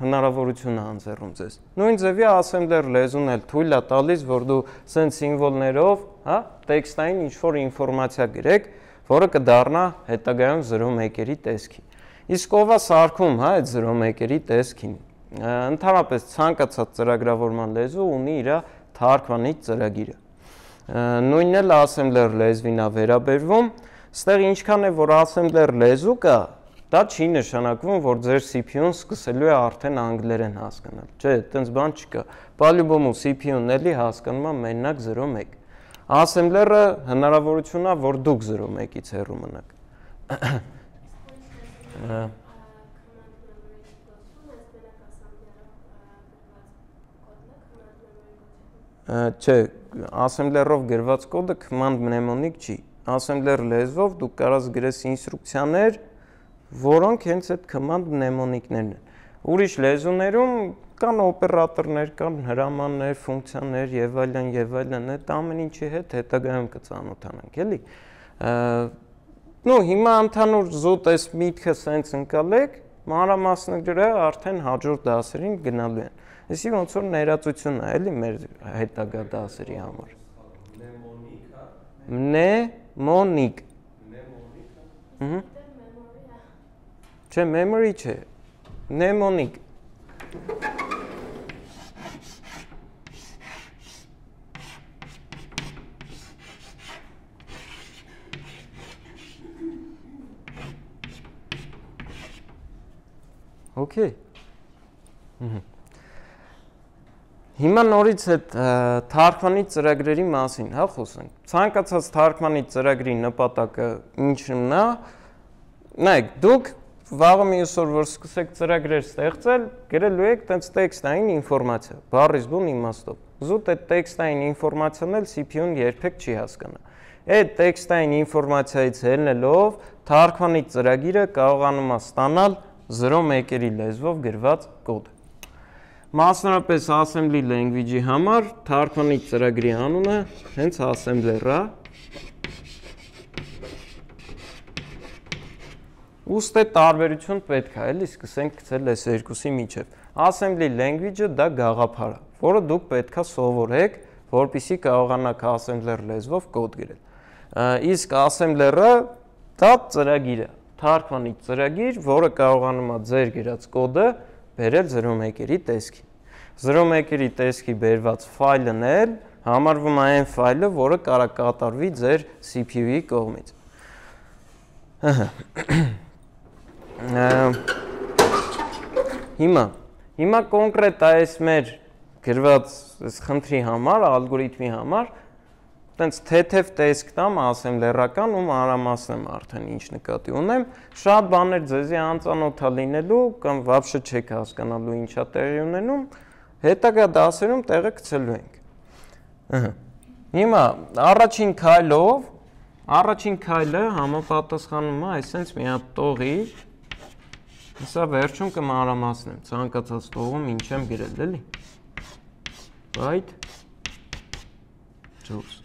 հնարավորություն է անձեռում ձեզ։ Նույն ձևի assembler լեզուն էլ թույլ է տալիս, որ դու սենց սիմվոլներով, հա, տեքստային ինչ որ ինֆորմացիա գրեք, որը կդառնա հետագայում զրո մեկերի տեսքի։ Իսկ ով է սարքում, հա, այդ զրո մեկերի տեսքին։ Ընդհանրապես ցանկացած ծրագրավորման լեզու ունի իր թարգմանիչ ծրագիրը։ Նույնն էլ assembler լեզվին է վերաբերվում, ստեղ ինչքան է որ assembler լեզու կա, դա չի նշանակվում, որ ձեր C P U-ն սկսելու է արդեն անգլերեն հասկանալ։ Չէ, այդպես բան չկա։ Բալյուբոմու C P U-ն էլի հասկանում է մենակ զրո մեկ։ Assembler-ը հնարավորություն է, որ դուք զրո մեկից հեռու մնաք։ Չէ, assembler-ով գրված կոդը command mnemonic չի։ Assembler լեզվով դուք կարաս գրես ինստրուկցիաներ, որոնք հենց այդ command mnemonic-ներն են։ Ուրիշ լեզուներում կան օպերատորներ, կան հրամաններ, ֆունկցիաներ եւ այլն եւ այլն, այդ ամեն ինչի հետ հետագայում կծանոթանանք, էլի։ Նու հիմա ընդհանուր զուտ այս միտքը սենց ընկալեք, մանրամասները արդեն հաջորդ դասերին գնալու են։ Այսինքն ոնց որ ներածություն է, էլի մեր հետագա դասերի համար։ Mnemonic։ Mnemonic։ Չէ, memory չէ, mnemonic։ Okay։ Հիմա նորից այդ թարգմանիչ ծրագրերի մասին, հա, խոսենք։ Ցանկացած թարգմանիչ ծրագրի նպատակը ինչն է։ Նայեք, դուք վաղը մյուս օր որ սկսեք ծրագրեր ստեղծել, գրելու եք տենց տեքստային ինֆորմացիա, բառից բուն իմաստով։ Զուտ այդ տեքստային ինֆորմացիան էլ C P U-ն երբեք չի հասկանա։ Այդ տեքստային ինֆորմացիայից ելնելով թարգմանիչ ծրագիրը կարողանում է ստանալ զրո մեկերի լեզվով գրված կոդ։ Մասնավորապես assembly language-ի համար թարգմանիչ ծրագրի անունը հենց assembler-ը։ Ուստի տարբերություն պետք է, էլի սկսենք գցել այս երկուսի միջև։ Assembly language-ը դա գաղափար է, որը դուք պետք է սովորեք, որպեսզի կարողանաք assembler լեզվով կոդ գրել։ Իսկ assembler-ը դա ծրագիր է, թարգմանիչ ծրագիր, որը կարողանում է ձեր գրած կոդը բերել զրո մեկերի տեսքի։ Զրո մեկերի տեսքի բերված ֆայլն էլ համարվում է այն ֆայլը, որը կարա կատարվի ձեր C P U-ի կողմից։ Հիմա, հիմա կոնկրետ այս մեր գրված այս խնդրի համար, ալգորիթմի համար, տենց թեթև տեսք տամ assembler-ական ու մանրամասնեմ արդեն ինչ նկատի ունեմ, շատ բաներ ձեզի անծանոթ է լինելու կամ վաբշե չեք հասկանալու ինչա տեղի ունենում, հետագա դասերում տեղը գցելու ենք։ Հիմա առաջին քայլով, առաջին քայլը համապատասխանում է այսպես մի հատ տողի, հեսա վերջում կմանրամասնեմ, ցանկացած տողում ինչ եմ գրել, էլի։ Byte Juice։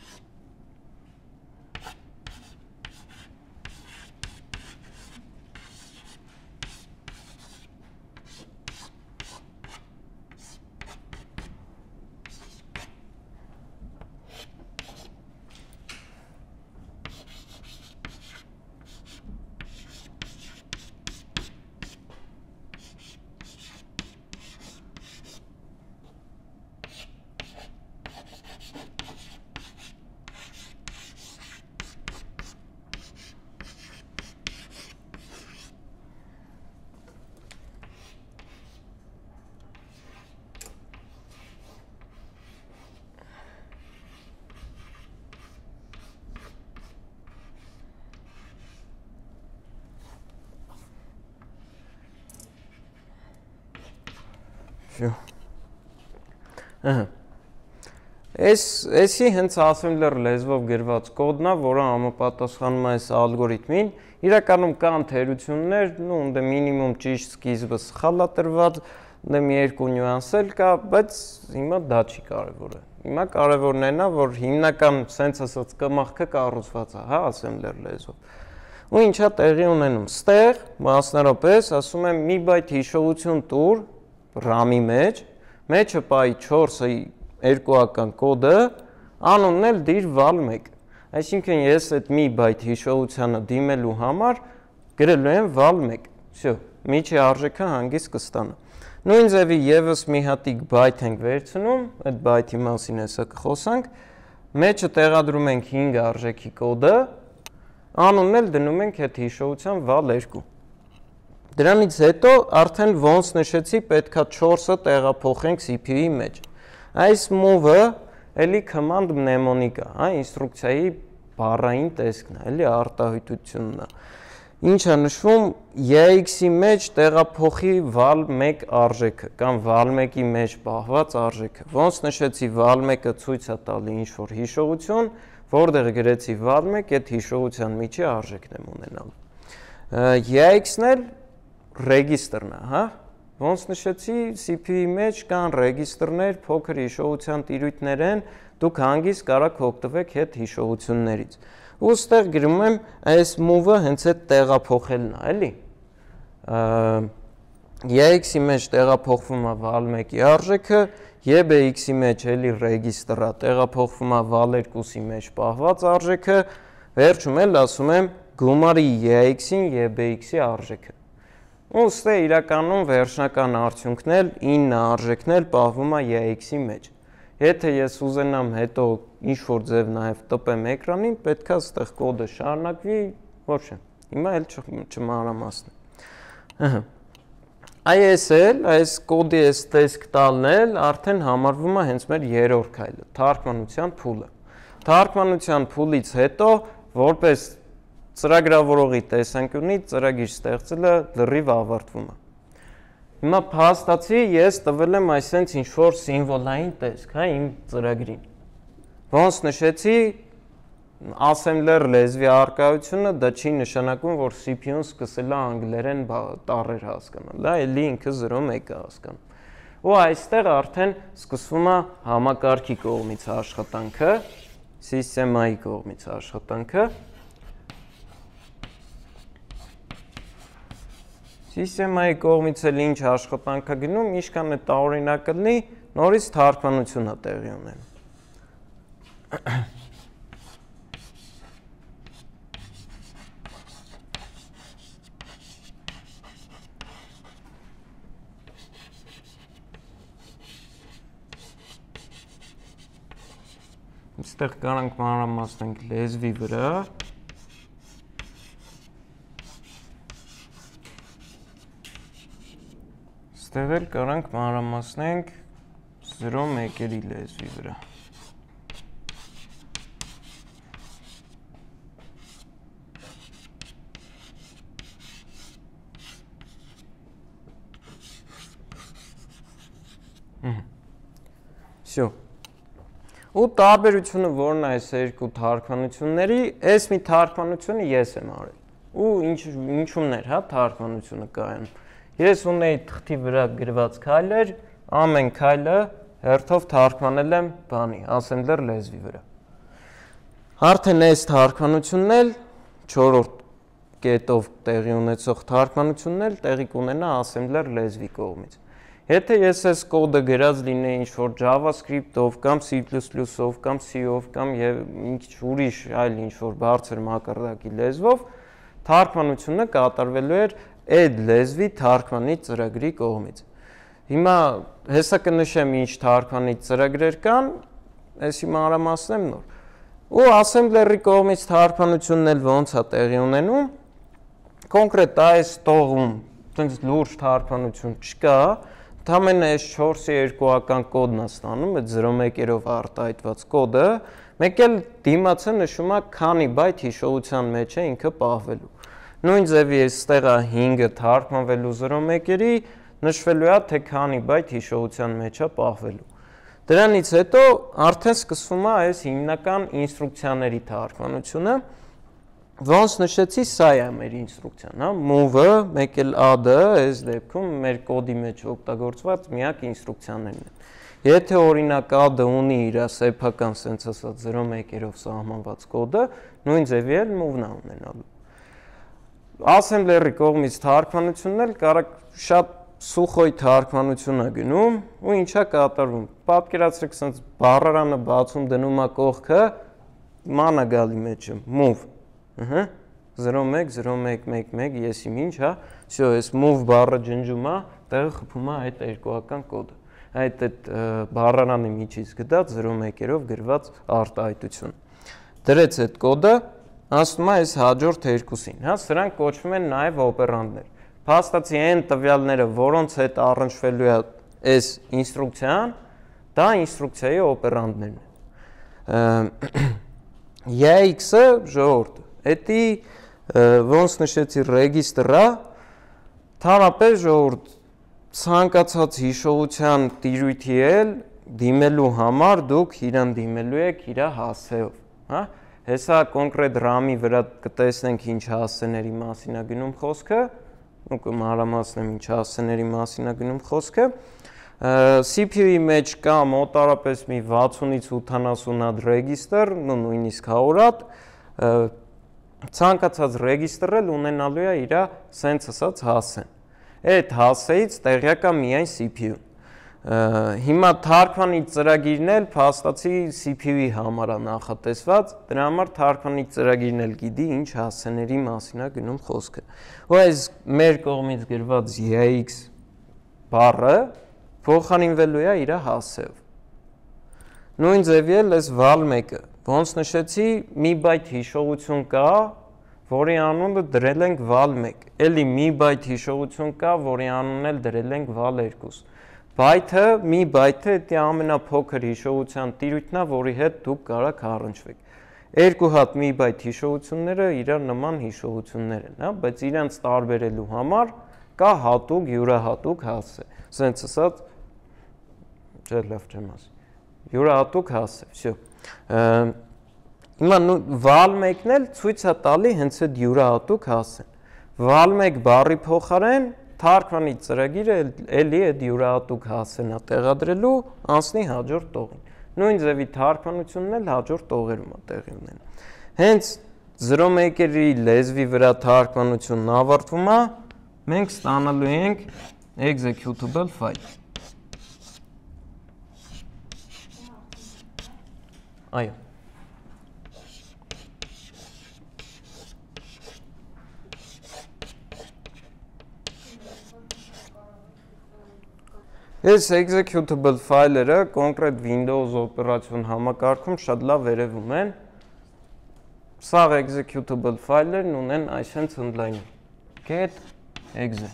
Էսի հենց assembler լեզվով գրված կոդն է, որը համապատասխանում է այս ալգորիթմին։ Իրականում կան թերություններ, ну, դե մինիմում ճիշտ սկիզբը սխալ է տրված, դե մի երկու նյուանս էլ կա, բայց հիմա դա չի կարևորը։ Հիմա կարևորն այն է, որ հիմնական sense ասած կմախքը կառուցված է, հա, assembler լեզվով։ Ու ինչա տեղի ունենում։ Ստեղ մասնարապես ասում եմ մի բայթ հիշողություն տուր RAM-ի մեջ, մեջը պայի չորսը երկուական կոդը, անունն էլ դիր վալ մեկ։ Այսինքն ես այդ մի բայթ հիշողությանը դիմելու համար գրելու եմ վալ մեկ։ Всё, միջի արժեքը հանգիստ կստանա։ Նույն ձևի եւս մի հատիկ բայթ ենք վերցնում, այդ բայթի մասին հեսա կխոսանք, մեջը տեղադրում ենք հինգ արժեքի կոդը, անունն էլ դնում ենք այդ հիշողության վալ երկու։ Դրանից հետո արդեն ոնց նշեցի, պետքա չորսը տեղափոխենք C P U-ի մեջ։ Այս move-ը էլի command mnemonic է, հա, ինստրուկցիայի բառային տեսքն է, էլի արտահայտությունն է։ Ինչ է նշվում, E X-ի մեջ տեղափոխի վալ մեկ արժեքը կամ վալ մեկի մեջ պահված արժեքը։ Ոնց նշեցի, վալ մեկը ցույց է տալի ինչ-որ հիշողություն, որտեղ գրեցի վալ մեկ, այդ հիշողության միջի արժեքն եմ ունենալու։ E X-ն էլ ռեգիստրն է, հա։ Ոնց նշեցի, C P U-ի մեջ կան ռեգիստրներ, փոքր հիշողության տիրույթներ են, դուք հանգիստ կարաք օգտվեք այդ հիշողություններից։ Ու ստեղ գրում եմ այս move-ը հենց այդ տեղափոխելն է, էլի։ E X-ի մեջ տեղափոխվում է վալ մեկի արժեքը, E B X-ի մեջ էլի ռեգիստրը տեղափոխվում է վալ երկուսի մեջ պահված արժեքը, վերջում էլ ասում եմ գումարի E X-ին E B X-ի արժեքը։ Ու ստե իրականում վերջնական արդյունքն էլ ինը արժեքն էլ պահվում է E X-ի մեջ։ Եթե ես ուզենամ հետո ինչ-որ ձև նաև տպեմ էկրանին, պետքա ստեղ կոդը շարունակվի, ոչ է, հիմա էլ չմանրամասնեմ։ Այս էլ, այս կոդի այս տեսք տալն էլ արդեն համարվում է հենց մեր երրորդ քայլը, թարգմանության փուլը։ Թարգմանության փուլից հետո, որպես ծրագրավորողի տեսանկյունից ծրագիր ստեղծելը լրիվ ավարտվում է։ Հիմա փաստացի ես տվել եմ այսենց ինչ-որ սիմվոլային տեսք, հա, իմ ծրագրին։ Ոնց նշեցի, assembler լեզվի առկայությունը դա չի նշանակում, որ C P U-ն սկսել է անգլերեն տառեր հասկանալ, դա էլի ինքը զրո մեկ է հասկանում։ Ու այստեղ արդեն սկսվում է համակարգի կողմից աշխատանքը, սիստեմայի կողմից աշխատանքը։ Սիստեմայի կողմից էլ ինչ աշխատանք է գնում, ինչքան է տարօրինակ լինի, նորից թարգմանություն է տեղի ունենում։ Այստեղ կարանք մանրամասնենք լեզվի վրա։ Ստեղ էլ կարանք մանրամասնենք զրո մեկերի լեզվի վրա։ Всё։ Ու տարբերությունը որն է այս երկու թարգմանությունների, այս մի թարգմանությունը ես եմ արել։ Ու ինչ ինչումներ, հա, թարգմանությունը կայանում։ Ես ունեի թղթի վրա գրված քայլեր, ամեն քայլը հերթով թարգմանել եմ բանի, assembler լեզվի վրա։ Արդեն այս թարգմանությունն էլ չորրորդ կետով տեղի ունեցող թարգմանությունն էլ տեղի կունենա assembler լեզվի կողմից։ Եթե ես այս կոդը գրած լինեի ինչ-որ JavaScript-ով կամ C plus plus-ով կամ C-ով կամ եւ ինչ ուրիշ այլ ինչ-որ բարձր մակարդակի լեզվով, թարգմանությունը կատարվելու էր այդ լեզվի թարգմանիչ ծրագրի կողմից։ Հիմա հեսա կնշեմ ինչ թարգմանիչ ծրագրեր կան, այսի մանրամասնեմ նոր։ Ու assembler-ի կողմից թարգմանությունն էլ ոնց է տեղի ունենում, կոնկրետ այս տողում այդպես լուրջ թարգմանություն չկա, ընդամենը այս չորսի երկուական կոդն է ստանում, այդ զրո մեկերով արտահայտված կոդը, մեկ էլ դիմացը նշում է քանի բայթ հիշողության մեջ է ինքը պահվելու։ Նույն ձևի այստեղ է հինգը թարգմանվելու զրո մեկերի, նշվելու է թե քանի բայթ հիշողության մեջ է պահվելու։ Դրանից հետո արդեն սկսվում է այս հիմնական ինստրուկցիաների թարգմանությունը, ոնց նշեցի, սա է մեր ինստրուկցիան, հա, move-ը, մեկ էլ add-ը, այս դեպքում մեր կոդի մեջ օգտագործված միակ ինստրուկցիաներն են։ Եթե օրինակ add-ը ունի իր սեփական sense ասած zero մեկ-երով սահմանված կոդը, նույն ձևի էլ move-ն է ունենալու։ Assembler-ի կողմից թարգմանությունն էլ կարող շատ սուխոյ թարգմանություն է գնում ու ինչա կատարվում։ Պատկերացրեք, sense բառարանը բացում դնում է կողքը, ման է գալի մեջը, move, ըհը, zero մեկ zero մեկ մեկ մեկ, ես իմ ինչ, հա, всё, այս move բառը ջնջում է, տեղը խփում է այդ երկուական կոդը։ Այդ այդ բառարանի միջից գտած zero մեկ-երով գրված արտահայտություն։ Դրեց այդ կոդը, ասում է այս հաջորդ երկուսին, հա, սրանք կոչվում են նաև օպերանտներ։ Փաստացի այն տվյալները, որոնց հետ առնչվելու է այս ինստրուկցիան, դա ինստրուկցիայի օպերանտներն են։ E X-ը ժողովուրդ, էդի ոնց նշեցի ռեգիստրը, թարապես ժողովուրդ ցանկացած հիշողության տիրույթի էլ դիմելու համար դուք իրան դիմելու եք իր հասցեով, հա։ Հեսա կոնկրետ RAM-ի վրա կտեսնենք ինչ հասցեների մասին է գնում խոսքը, ու կմանրամասնեմ ինչ հասցեների մասին է գնում խոսքը։ C P U-ի մեջ կա մոտարապես մի վաթսունից ութանասուն հատ ռեգիստր, նույնիսկ հարյուր հատ, ցանկացած ռեգիստրը ունենալու է իր sense ասած հասցեն։ Այդ հասցեից տեղյակ է միայն C P U-ն։ Հիմա թարգմանիչ ծրագիրն էլ փաստացի C P U-ի համար է նախատեսված, դրա համար թարգմանիչ ծրագիրն էլ գիտի ինչ հասցեների մասին է գնում խոսքը։ Ու այս մեր կողմից գրված E X բառը փոխարինվելու է իր հասցեով։ Նույն ձևի էլ այս val մեկը, ոնց նշեցի, մի բայթ հիշողություն կա, որի անունը դրել ենք val մեկ, էլի մի բայթ հիշողություն կա, որի անունն էլ դրել ենք val երկու։ Բայթը, մի բայթը դա ամենափոքր հիշողության տիրույթն է, որի հետ դուք կարող առնչվեք։ Երկու հատ մի բայթ հիշողությունները իրար նման հիշողություններ են, հա, բայց իրանց տարբերելու համար կա հատուկ յուրահատուկ հասցե։ Սենց ասած, չէ, լավ չեմ ասի։ Յուրահատուկ հասցե, всё։ Հիմա val մեկն էլ ցույց է տալի հենց այդ յուրահատուկ հասցեն։ val մեկ բառի փոխարեն թարգմանիչ ծրագիրը էլի այդ յուրահատուկ հասցեն է տեղադրելու անցնի հաջորդ տողին։ Նույն ձևի թարգմանությունն էլ հաջորդ տողերում է տեղի ունենում։ Հենց zero մեկ-երի լեզվի վրա թարգմանությունն ավարտվում է, մենք ստանալու ենք executable file։ Այո։ Այս executable file-երը կոնկրետ Windows օպերացիոն համակարգում շատ լավ վերևում են։ Սաղ executable file-երն ունեն այսպես ընդլայնում։ Get exe։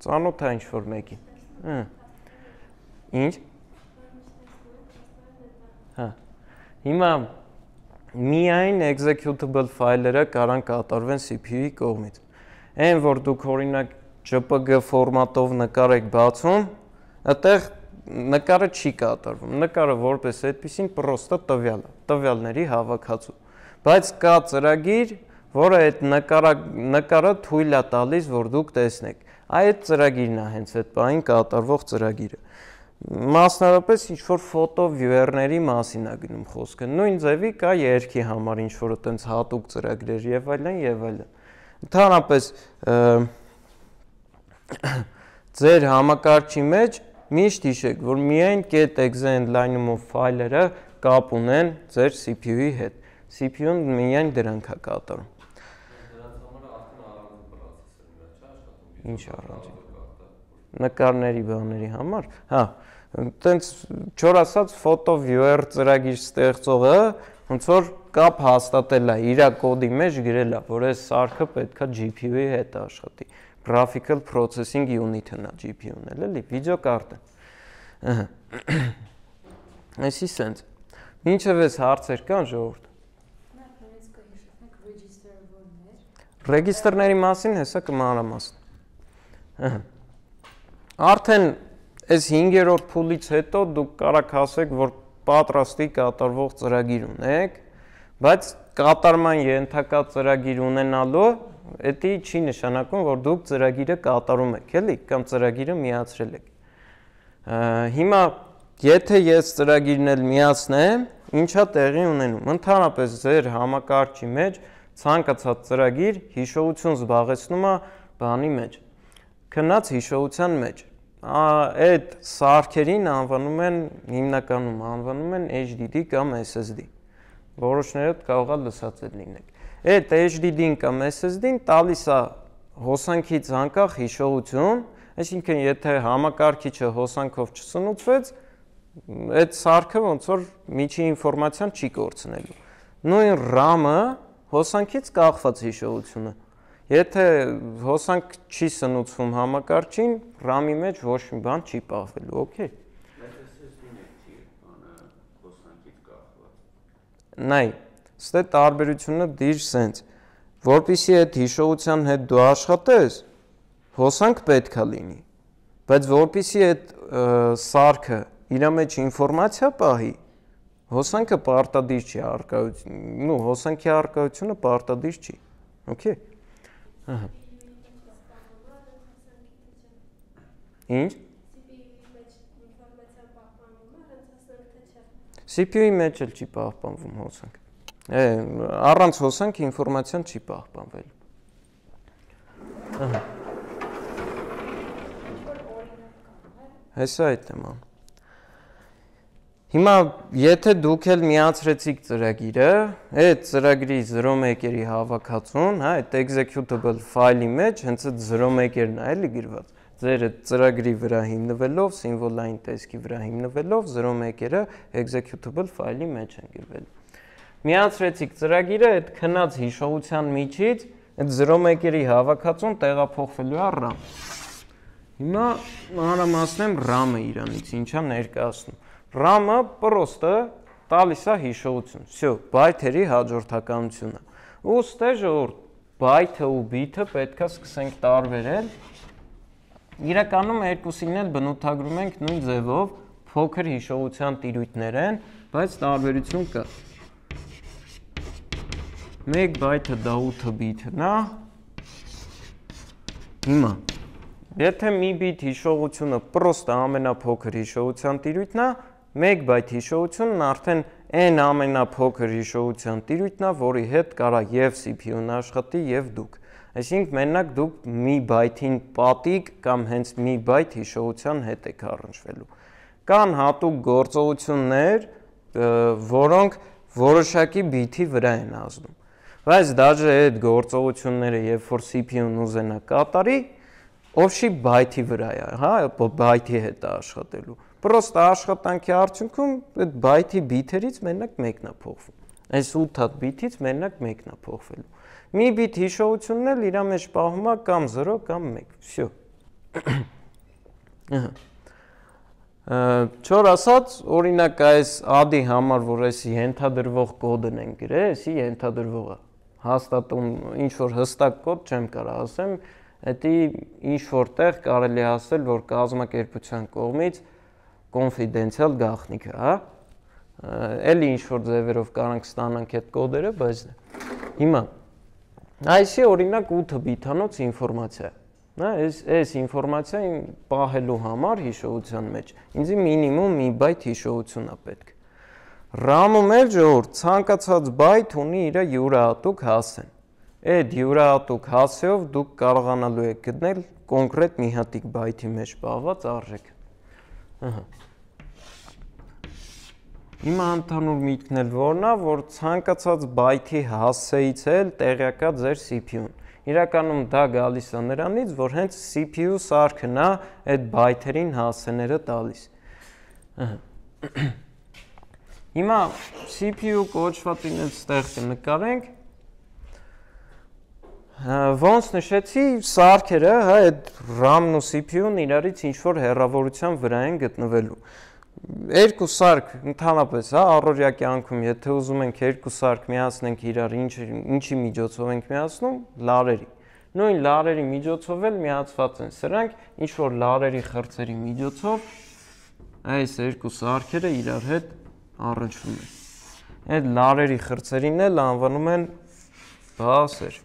Ծանոթ է ինչ-որ մեկին։ Ինչ։ Հա։ Հիմա միայն executable file-երը կարող կատարվեն C P U-ի կողմից։ Այն որ դուք օրինակ J P G ֆորմատով նկար եք բացում, այդտեղ նկարը չի կատարվում։ Նկարը որպես այդպեսին պրոստը տվյալ է, տվյալների հավաքածու։ Բայց կա ծրագիր, որը այդ նկարը նկարը թույլ է տալիս, որ դուք տեսնեք։ Այդ ծրագիրն է հենց այդ բանին կատարվող ծրագիրը։ Մասնավորապես ինչ որ ֆոտո վյուերների մասին է գնում խոսքը։ Նույն ձևի կա երգի համար ինչ որ այտենց հատուկ ծրագրեր եւ այլն եւ այլն։ Ընդհանրապես ձեր համակարգչի մեջ միշտ հիշեք, որ միայն get exe endline-ով ֆայլերը կապ ունեն ձեր C P U-ի հետ։ C P U-ն միայն դրանք է կատարում։ Դրանց համար արդեն առանձին պրոցեսորներ չի աշխատում։ Ինչ առանձին։ Նկարների բաների համար, հա, տենց չոր ասած photo viewer ծրագիր ստեղծողը ոնց որ կապ հաստատել է իր կոդի մեջ գրել է, որ այս սարքը պետքա G P U-ի հետ աշխատի։ Graphical Processing Unit-ն է G P U-ն էլ, էլի, վիդեոկարտը։ Ահա։ Այսի սենց։ Մինչև այս հարցեր կան ժողովուրդ։ Ռեգիստրների մասին հեսա կմանրամասն։ Ահա։ Արդեն այս հինգերորդ փուլից հետո դուք կարաք ասեք, որ պատրաստի կատարվող ծրագիր ունեք, բայց կատարման ենթակա ծրագիր ունենալու դա չի նշանակում, որ դուք ծրագիրը կատարում եք, էլի, կամ ծրագիրը միացրել եք։ Հիմա եթե ես ծրագիրն էլ միացնեմ, ինչա տեղի ունենում։ Ընդհանրապես ձեր համակարգչի մեջ ցանկացած ծրագիր հիշողություն զբաղեցնում է բանի մեջ, քնած հիշողության մեջ։ Այդ սարքերին անվանում են, հիմնականում անվանում են H D D կամ S S D։ Որոշներդ կարող է լսած լինեք։ Այդ H D D-ին կամ S S D-ին տալիս է հոսանքից անկախ հիշողություն, այսինքն եթե համակարգիչը հոսանքով չսնուցվեց, այդ սարքը ոնց որ միջի ինֆորմացիան չի կորցնելու։ Նույն RAM-ը հոսանքից կախված հիշողությունը։ Եթե հոսանք չի սնուցվում համակարգչին, RAM-ի մեջ ոչ մի բան չի պահվելու, օքեյ։
Բայց S S D-ն է չի բանը հոսանքից կախված։
Նայ, ստե տարբերությունը դիր սենց, որպեսզի այդ հիշողության հետ դու աշխատես, հոսանք պետք է լինի, բայց որպեսզի այդ սարքը իր մեջ ինֆորմացիա պահի, հոսանքը պարտադիր չի առկայություն, նու հոսանքի առկայությունը պարտադիր չի, օքեյ։ Ահա։ Ինչ? C P U-ի մեջ էլ չի պահպանվում հոսանք։ Առանց հոսանք ինֆորմացիան չի պահպանվել։ Ահա։ Հեսա այդ թեման։ Հիմա եթե դուք էլ միացրեցիք ծրագիրը, այդ ծրագրի zero մեկ-երի հավաքածուն, հա, այդ executable ֆայլի մեջ հենց այդ zero մեկ-երն է էլի գրված։ Ձեր ծրագրի վրա հիմնվելով, սիմվոլային տեսքի վրա հիմնվելով zero մեկ-երը executable ֆայլի մեջ են գրվել։ Միացրեցիք ծրագիրը, այդ քնած հիշողության միջից այդ zero մեկ-երի հավաքածուն տեղափոխվելու է RAM։ Հիմա մանրամասնեմ RAM-ը իրանից ինչա ներկայացնում։ RAM-ը պրոստը տալիս է հիշողություն։ Всё, բայթերի հաջորդականությունը։ Ու ստե ժողովուրդ, բայթը ու բիթը պետքա սկսենք տարբերել։ Իրականում երկուսին էլ բնութագրում ենք նույն ձևով, փոքր հիշողության տիրույթներ են, բայց տարբերություն կա։ մեկ բայթը դա ութ բիթն է։ Հիմա, եթե մի բիթ հիշողությունը պրոստը ամենափոքր հիշողության տիրույթն է, մեկ բայթ հիշողությունն արդեն այն ամենափոքր հիշողության տիրույթն է, որի հետ կարա եւ C P U-ն աշխատի եւ դուք։ Այսինքն մենակ դուք մի բայթին պատիկ կամ հենց մի բայթ հիշողության հետ եք առնչվելու։ Կան հատուկ գործողություններ, որոնք որոշակի բիթի վրա են ազդում։ Բայց դաժե այդ գործողությունները, երբ որ C P U-ն ուզենա կատարի, ովշի բայթի վրա է, հա, բայթի հետ է աշխատելու։ Պրոստը աշխատանքի արդյունքում այդ բայթի բիթերից մենակ մեկն է փոխվում։ Այս ութ հատ բիթից մենակ մեկն է փոխվելու։ Մի բիթ հիշողությունն էլ իր մեջ պահվում է կամ zero կամ մեկ։ Всё։ Չոր ասած, օրինակ այս add-ի համար, որ այս ենթադրվող կոդն են գրել, էսի ենթադրվողը հաստատում ինչ որ հստակ կոդ չեմ կարող ասեմ, դա ինչ որտեղ կարելի ասել, որ կազմակերպության կողմից confidential գաղտնիք է, հա։ Էլի ինչ որ ձևերով կարանք ստանանք այդ կոդերը, բայց հիմա այսի օրինակ ութ բիթանոց ինֆորմացիա, հա, այս այս ինֆորմացիան պահելու համար հիշողության մեջ ինձ մինիմում մի բայթ հիշողություն է պետք։ RAM-ում էլ ժողովուրդ ցանկացած բայթ ունի իր յուրահատուկ հասցեն։ Այդ յուրահատուկ հասցեով դուք կարողանալու եք գտնել կոնկրետ մի հատիկ բայթի մեջ պահված արժեք։ Ահա։ Հիմա ընդհանուր միտքն էլ որն է, որ ցանկացած բայթի հասցեից էլ տեղյակ է ձեր C P U-ն։ Իրականում դա գալիս է նրանից, որ հենց C P U սարքն է այդ բայթերին հասցեները տալիս։ Ահա։ Հիմա C P U կոչվածին էլ ստեղ կնկարենք։ Ոնց նշեցի, սարքերը, հա, այդ RAM-ն ու C P U-ն իրարից ինչ-որ հեռավորության վրա են գտնվելու։ Երկու սարք ընդհանրապես, հա, առօրյա կյանքում, եթե ուզում ենք երկու սարք միացնենք իրար, ինչի միջոցով ենք միացնում, լարերի։ նույն լարերի միջոցով էլ միացված են սրանք, ինչ որ լարերի խրձերի միջոցով այս երկու սարքերը իրար հետ առնչվում են։ Այդ լարերի խրձերին էլ անվանում են բասեր։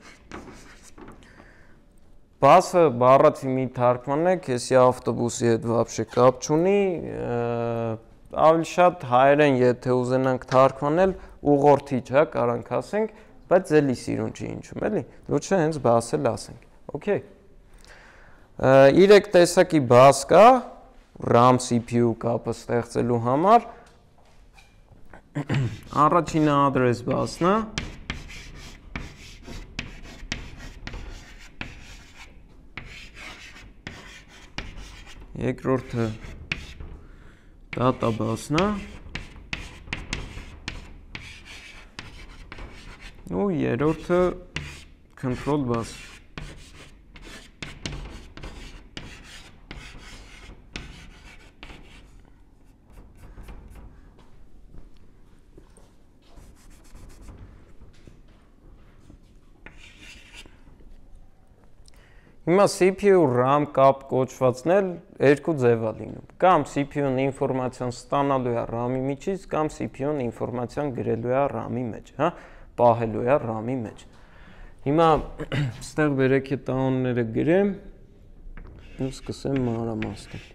Բասը բառացի մի թարգմանն է, քեսի ավտոբուսի հետ вообще կապ չունի, ավելի շատ հայերեն եթե ուզենանք թարգմանել ուղղորդիչ, հա, կարանք ասենք, բայց էլի սիրուն չի ինչում, էլի։ Լուչը հենց բաս էլ ասենք։ Okay։ Երեք տեսակի բաս կա RAM C P U կապը ստեղծելու համար։ Առաջինը address բասն է։ Երկրորդը data բասն է։ Ու երրորդը control bus։ Հիմա C P U RAM կապ կոչվածն էլ երկու ձև է լինում։ Կամ C P U-ն ինֆորմացիան ստանալու է RAM-ի միջից, կամ C P U-ն ինֆորմացիան գրելու է RAM-ի մեջ, հա, պահելու է RAM-ի մեջ։ Հիմա ստեղ վերեք է տանոնները գրեմ ու սկսեմ մանրամասնել։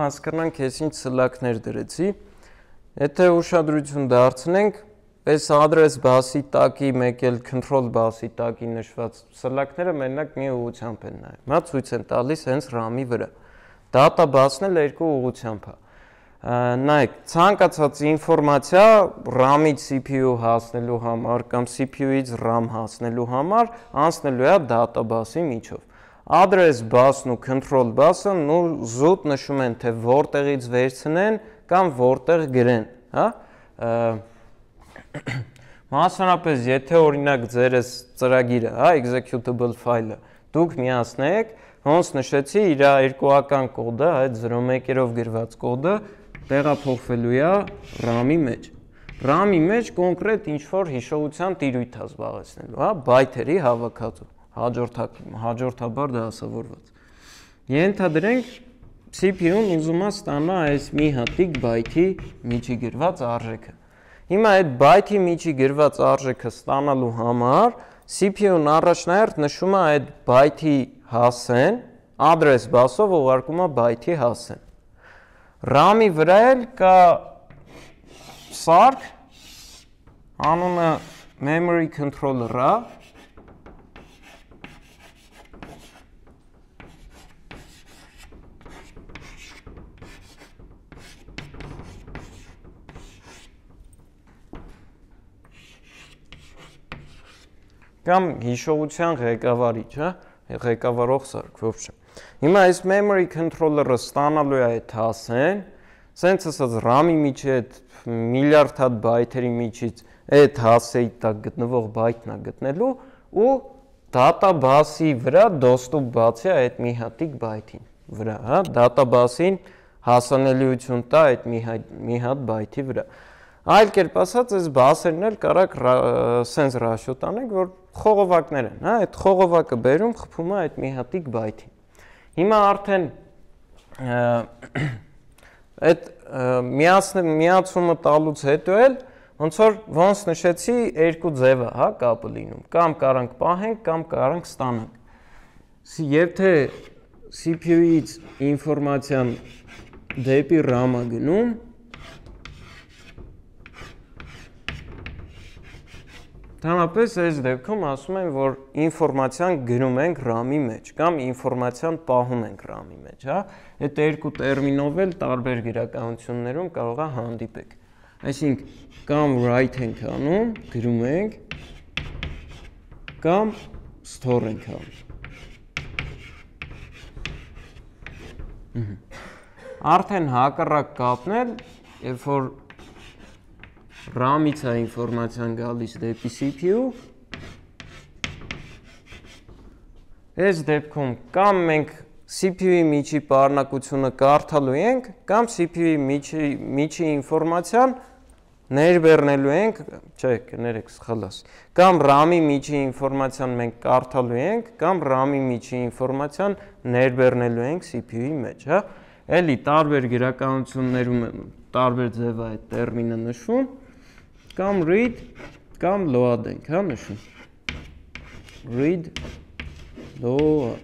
Հասկանանք ես ինչ սլակներ դրեցի, եթե ուշադրություն դարձնենք, այս address բասի տակի մեկ էլ control բասի տակի նշված սլակները մենակ մի ուղղությամբ են նայում, հա, ցույց են տալիս հենց RAM-ի վրա, data բասն էլ երկու ուղղությամբ է, նայեք, ցանկացած ինֆորմացիա RAM-ից C P U հասնելու համար կամ C P U-ից RAM հասնելու համար անցնելու է data բասի միջով։ Address բասն ու control բասը նու զուտ նշում են, թե որտեղից վերցնեն կամ որտեղ գրեն, հա։ Մասնավորապես, եթե օրինակ ձերս ծրագիրը, հա, executable file-ը, դուք միացնեք, ոնց նշեցի, իր երկուական կոդը, այդ զրո մեկերով գրված կոդը տեղափոխվելու է RAM-ի մեջ։ RAM-ի մեջ կոնկրետ ինչ-որ հիշողության տիրույթ է զբաղեցնելու, հա, բայթերի հավաքածու։ Հաջորդաբար դասավորված։ Ենթադրենք C P U-ն ուզում է ստանա այս մի հատիկ բայթի միջի գրված արժեքը։ Հիմա այդ բայթի միջի գրված արժեքը ստանալու համար C P U-ն առաջնահերթ նշում է այդ բայթի հասցեն, address բասով ուղարկում է բայթի հասցեն։ RAM-ի վրա էլ կա սարք, անունը memory controller-ը, կամ հիշողության ղեկավարիչ, հա, ղեկավարող սարք, ոբշե։ Հիմա այս memory controller-ը ստանալու է այդ հասցեն, սենց ասած RAM-ի միջի այդ միլիարդ հատ բայթերի միջից այդ հասցեի տակ գտնվող բայթն է գտնելու ու data bus-ի վրա доступ բացի այդ մի հատիկ բայթին վրա, հա, data bus-ին հասանելիություն տա այդ մի հատ բայթի վրա։ Այլ կերպ ասած, այս բասերն էլ կարակ սենց ռաշիո տանենք, որ խողովակներ են, հա, այդ խողովակը բերում խփում է այդ մի հատիկ բայթին։ Հիմա արդեն այդ միացումը տալուց հետո էլ ոնց որ ոնց նշեցի երկու ձև է, հա, կապը լինում, կամ կարանք պահենք, կամ կարանք ստանանք։ Եթե C P U-ից ինֆորմացիան դեպի RAM-ը գնում, Ընդհանրապես այս դեպքում ասում են, որ ինֆորմացիան գրում ենք RAM-ի մեջ կամ ինֆորմացիան պահում ենք RAM-ի մեջ, հա։ Այդ երկու տերմինով էլ տարբեր գրականություններում կարող է հանդիպեք։ Այսինքն կամ write ենք անում, գրում ենք, կամ store ենք անում։ Արդեն հակառակ կապն էլ, երբ որ RAM-ից է ինֆորմացիան գալիս դեպի C P U, այս դեպքում կամ մենք C P U-ի միջի պարունակությունը կարդալու ենք, կամ C P U-ի միջի, միջի ինֆորմացիան ներբեռնելու ենք, չէ, կներեք սխալաս, կամ RAM-ի միջի ինֆորմացիան մենք կարդալու ենք, կամ RAM-ի միջի ինֆորմացիան ներբեռնելու ենք C P U-ի մեջ, հա։ Էլի տարբեր գրականություններում տարբեր ձև է այդ տերմինը նշվում, կամ read, կամ load ենք, հա, նշում։ Read, load։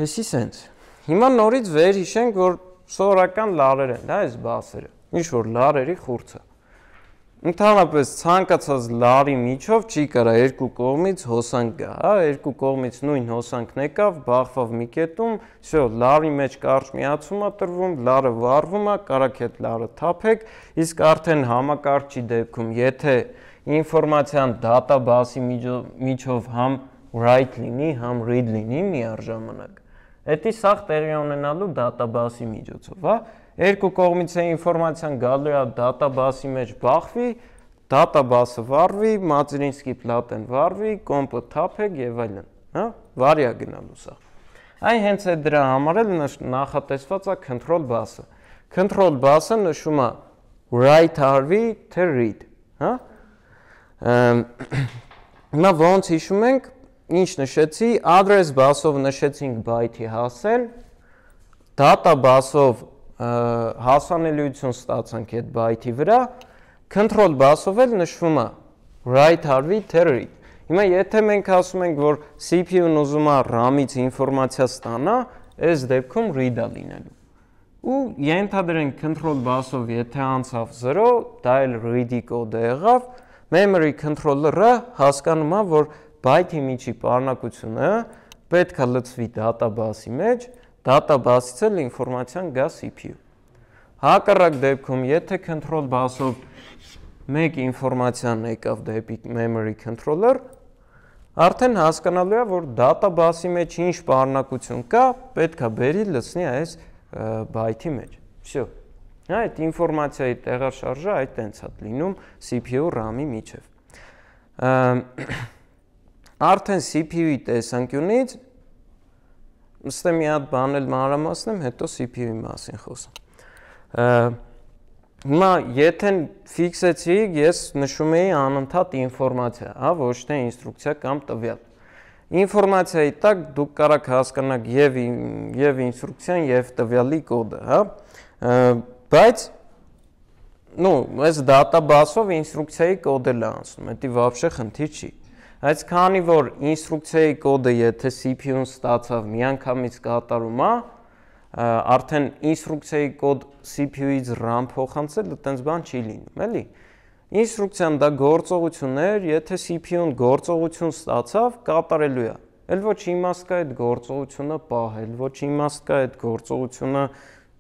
Հեսի սենց։ Հիմա նորից վեր հիշենք, որ սովորական լարեր են, դա այս բասերը, ինչ-որ լարերի խուրձը։ Ընդհանրապես ցանկացած լարի միջով չի կարա երկու կողմից հոսանք գա, հա, երկու կողմից նույն հոսանքն եկավ, բախվավ մի կետում, всё, լարի մեջ կարճ միացում է տրվում, լարը վառվում է, կարաք այդ լարը թափեք, իսկ արդեն համակարգչի դեպքում, եթե ինֆորմացիան դատաբասի միջով համ write լինի, համ read լինի միառժամանակ, դա սաղ տեղի ունենալու դատաբասի միջոցով, հա։ Երկու կողմից է ինֆորմացիան գալու է դատաբասի մեջ բախվի, դատաբասը վառվի, մատերինսկի պլատեն վառվի, կոմպը թափեք եւ այլն, հա, վարյա գնալու սա։ Այն հենց է դրա համար էլ նախատեսված է control bus-ը։ Control bus-ը նշում է write արվի թե read, հա։ Հիմա ոնց հիշում ենք, ինչ նշեցի, address bus-ով նշեցինք byte-ի հասել, data bus-ով հասանելիություն ստացանք այդ byte-ի վրա, control bus-ով էլ նշվում է write արվի թե read։ Հիմա եթե մենք ասում ենք, որ C P U-ն ուզում է RAM-ից ինֆորմացիա ստանա, այս դեպքում read-ա լինելու։ Ու ենթադրենք control bus-ով եթե անցավ zero, դա էլ read-ի կոդը եղավ, memory controller-ը հասկանում է, որ byte-ի միջի պարունակությունը պետք է լցվի database-ի մեջ, database-ից էլ ինֆորմացիան գա C P U։ Հակառակ դեպքում, եթե control bus-ով մեկ ինֆորմացիան եկավ դեպի memory controller, արդեն հասկանալու է, որ database-ի մեջ ինչ պարունակություն կա, պետք է բերի լցնի այս byte-ի մեջ։ Всё։ Այդ ինֆորմացիայի տեղաշարժը այդ տենց է լինում C P U RAM-ի միջև։ Արդեն C P U-ի տեսանկյունից Ստե մի հատ բան էլ մանրամասնեմ, հետո C P U-ի մասին խոսեմ։ Հիմա եթե ֆիքսեցիք, ես նշում էի անընդհատ ինֆորմացիա, հա, ոչ թե ինստրուկցիա կամ տվյալ։ Ինֆորմացիայի տակ դուք կարաք հասկանաք եւ եւ ինստրուկցիան եւ տվյալի կոդը, հա։ Բայց նո, այս database-ով ինստրուկցիայի կոդը լանցնում, դա вообще խնդիր չի։ Այս քանի որ ինստրուկցիայի կոդը եթե C P U-ն ստացավ միանգամից կատարում է, արդեն ինստրուկցիայի կոդ C P U-ից RAM փոխանցել, այտենց բան չի լինում, էլի։ Ինստրուկցիան դա գործողություն էր, եթե C P U-ն գործողություն ստացավ, կատարելու է։ Էլ ոչ իմաստ կա այդ գործողությունը պահել, ոչ իմաստ կա այդ գործողությունը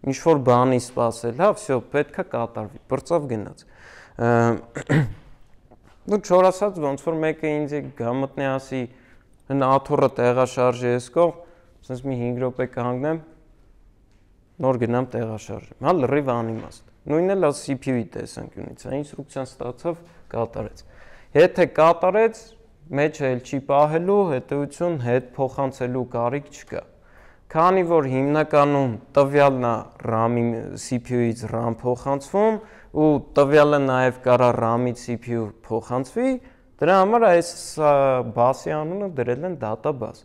ինչ-որ բանի սպասել, հա, всё, պետք է կատարվի, բրծավ գնաց։ Դու չորասած ոնց որ մեկը ինձ գամտնի ասի, հն աթոռը տեղաշարժի ես կող, ասես մի հինգ րոպե կհանգնեմ, նոր գնամ տեղաշարժեմ, հա, լրիվ անիմաստ։ Նույնն էլ C P U-ի տեսանկյունից, հա, ինստրուկցիան ստացավ, կատարեց։ Եթե կատարեց, մեջը էլ չի պահելու, հետեւություն հետ փոխանցելու կարիք չկա։ Քանի որ հիմնականում տվյալն է RAM-ի C P U-ից RAM փոխանցվում, ու տվյալը նաև կարա RAM-ից C P U փոխանցվի, դրա համար այս բասի անունը դրել են database։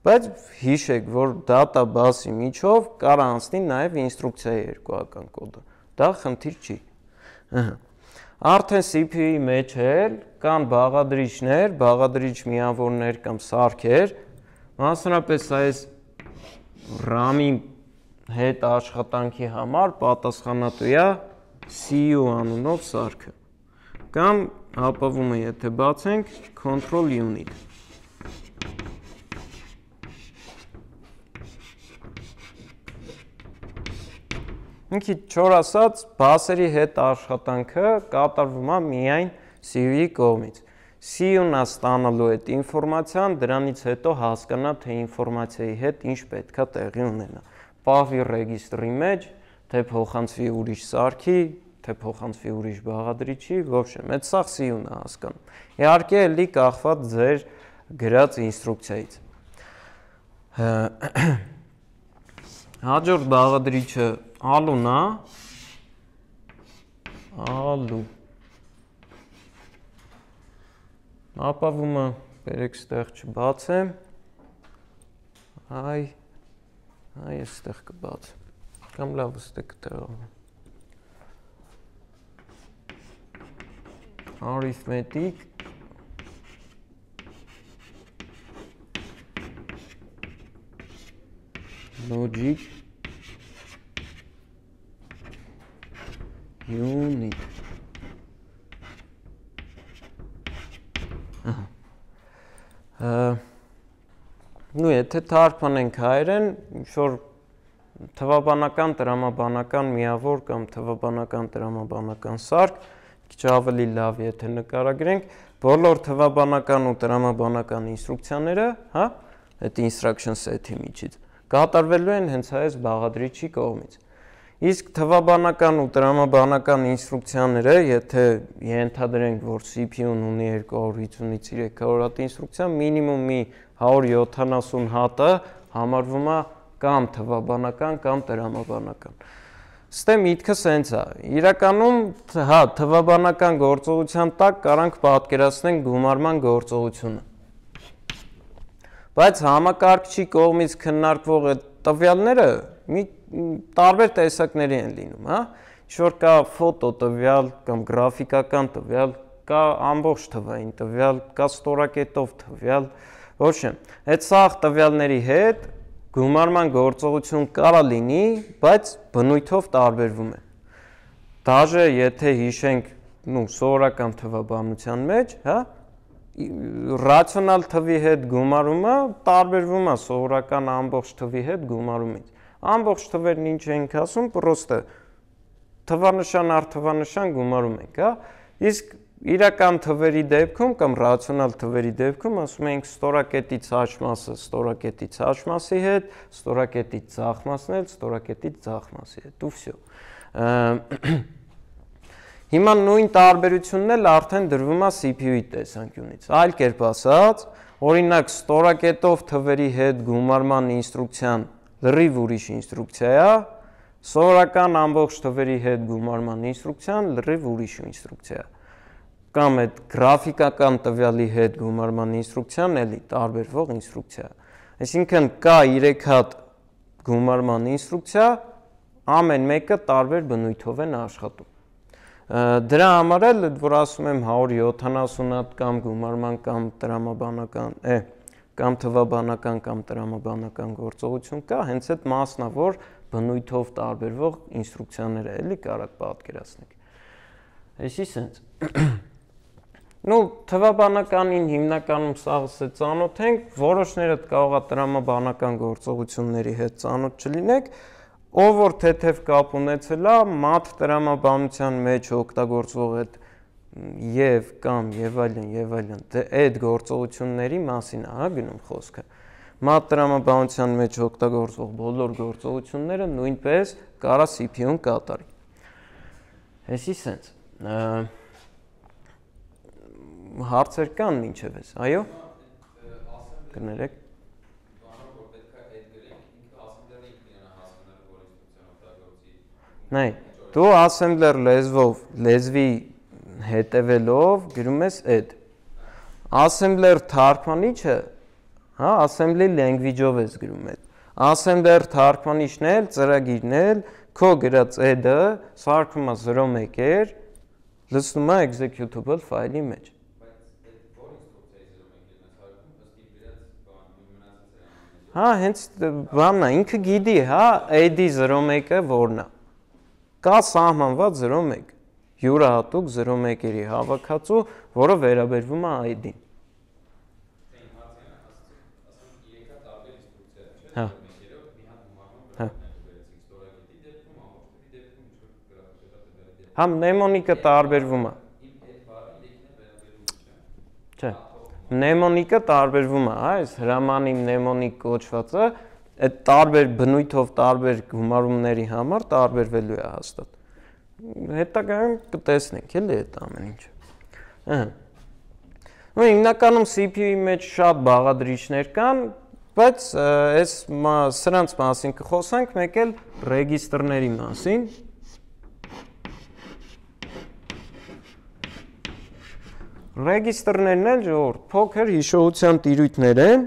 Բայց հիշեք, որ database-ի միջով կարա անցնի նաև ինստրուկցիայի երկուական կոդը։ Դա խնդիր չի։ Արդեն C P U-ի մեջ էլ կան բաղադրիչներ, բաղադրիչ միավորներ կամ սարքեր, մասնավորապես այս RAM-ի հետ աշխատանքի համար պատասխանատու է C U անունով սարքը։ Կամ ապավումը եթե բացենք control unit։ Ինքի չոր ասած բասերի հետ աշխատանքը կատարվում է միայն C U-ի կողմից։ C U-ն է ստանալու այդ ինֆորմացիան, դրանից հետո հասկանա, թե ինֆորմացիայի հետ ինչ պետքա տեղի ունենա։ Պահվի ռեգիստրի մեջ, թե փոխանցվի ուրիշ սարքի, թե փոխանցվի ուրիշ բաղադրիչի, ոբշեմ, այդ սաղ C U-ն է հասկանում։ Իհարկե էլի կախված ձեր գրած ինստրուկցիայից։ Հաջորդ բաղադրիչը ալուն է, ալու, ապավումը բերեք ստեղ չբացեմ, այ, այ ես ստեղ կբացեմ, կամ լավ ստեղ կտեղավորեմ, arithmetic, logic, unit, նու եթե թարգմանենք հայերեն, ինչ-որ թվաբանական, տրամաբանական միավոր կամ թվաբանական, տրամաբանական սարք, քիչ ավելի լավ եթե նկարագրենք, բոլոր թվաբանական ու տրամաբանական ինստրուկցիաները, հա, այդ instruction set-ի միջից, կատարվելու են հենց այս բաղադրիչի կողմից։ Իսկ թվաբանական ու տրամաբանական ինստրուկցիաները, եթե ենթադրենք, որ C P U-ն ունի երկու հարյուր հիսունից երեք հարյուր հատ ինստրուկցիա, մինիմում մի հարյուր յոթանասուն հատը համարվում է կամ թվաբանական կամ տրամաբանական։ Ստե միտքը սենց է։ Իրականում, հա, թվաբանական գործողության տակ կարանք պատկերացնենք գումարման գործողությունը։ Բայց համակարգչի կողմից քննարկվող այդ տվյալները մի տարբեր տեսակների են լինում, հա, ինչ-որ կա ֆոտո տվյալ կամ գրաֆիկական տվյալ, կա ամբողջ թվային տվյալ, կա ստորակետով տվյալ, ոչմ, այդ սաղ տվյալների հետ գումարման գործողություն կարա լինի, բայց բնույթով տարբերվում է։ Դաժե եթե հիշենք, նու, սովորական թվաբանության մեջ, հա, ռացիոնալ թվի հետ գումարումը տարբերվում է սովորական ամբողջ թվի հետ գումարումից։ Ամբողջ թվերն ինչ ենք ասում, պրոստը թվանշան առ թվանշան գումարում ենք, հա։ Իսկ իրական թվերի դեպքում կամ ռացիոնալ թվերի դեպքում ասում ենք ստորակետից աջ մասը ստորակետից աջ մասի հետ, ստորակետից ձախ մասն էլ ստորակետից ձախ մասի հետ, ու վсё։ Հիմա նույն տարբերությունն էլ արդեն դրվում է C P U-ի տեսանկյունից։ Այլ կերպ ասած, օրինակ ստորակետով թվերի հետ գումարման ինստրուկցիան լրիվ ուրիշ ինստրուկցիա է, սովորական ամբողջ թվերի հետ գումարման ինստրուկցիան լրիվ ուրիշ ինստրուկցիա է։ Կամ այդ գրաֆիկական տվյալի հետ գումարման ինստրուկցիան էլի տարբերվող ինստրուկցիա է։ Այսինքն կա երեք հատ գումարման ինստրուկցիա, ամեն մեկը տարբեր բնույթով են աշխատում։ Դրա համար էլ, որ ասում եմ հարյուր յոթանասուն հատ կամ գումարման կամ տրամաբանական, է, կամ թվաբանական կամ տրամաբանական գործողություն կա, հենց այդ մասն է, որ բնույթով տարբերվող ինստրուկցիաները էլի կարաք պատկերացնենք։ Այսի սենց։ Նու թվաբանականին հիմնականում սաղս է ծանոթ ենք, որոշները կարող է տրամաբանական գործողությունների հետ ծանոթ չլինեք, ով որ թեթև կապ ունեցել է, մաթ տրամաբանության մեջ օգտագործվող այդ եւ կամ եւ այլն եւ այլն, այդ գործողությունների մասին է, հա, գնում խոսքը։ Մաթ տրամաբանության մեջ օգտագործվող բոլոր գործողությունները նույնպես կարա C P U-ն կատարի։ Այսի սենց։ Հարցեր կան մինչև էս, այո։ Կներեք։ Նայ, դու assembler լեզվով, լեզվի հետևելով գրում ես add։ Assembler թարգմանիչը, հա, assembly language-ով ես գրում այդ։ Assembler թարգմանիչն էլ, ծրագիրն էլ, քո գրած add-ը սարքում է զրո մեկ էր, լցնում է executable ֆայլի մեջ։ Հա, հենց բանն է, ինքը գիտի, հա, add-ի զրո մեկը որն է։ կա սահմանված զրո մեկ, յուրահատուկ զրո մեկերի հավաքածու, որը վերաբերվում է I D-ին։ Հա։ Հա, մնեմոնիկը տարբերվում է։ Չէ։ Մնեմոնիկը տարբերվում է, այս հրամանի մնեմոնիկ կոչվածը այդ տարբեր բնույթով տարբեր գումարումների համար տարբերվելու է հաստատ։ Հետագայում կտեսնենք էլի այդ ամեն ինչը։ Ահա։ Ու հիմնականում C P U-ի մեջ շատ բաղադրիչներ կան, բայց այս սրանց մասին կխոսենք, մեկ էլ ռեգիստրների մասին։ Ռեգիստրներն էլ ժողովուրդ փոքր հիշողության տիրույթներ են,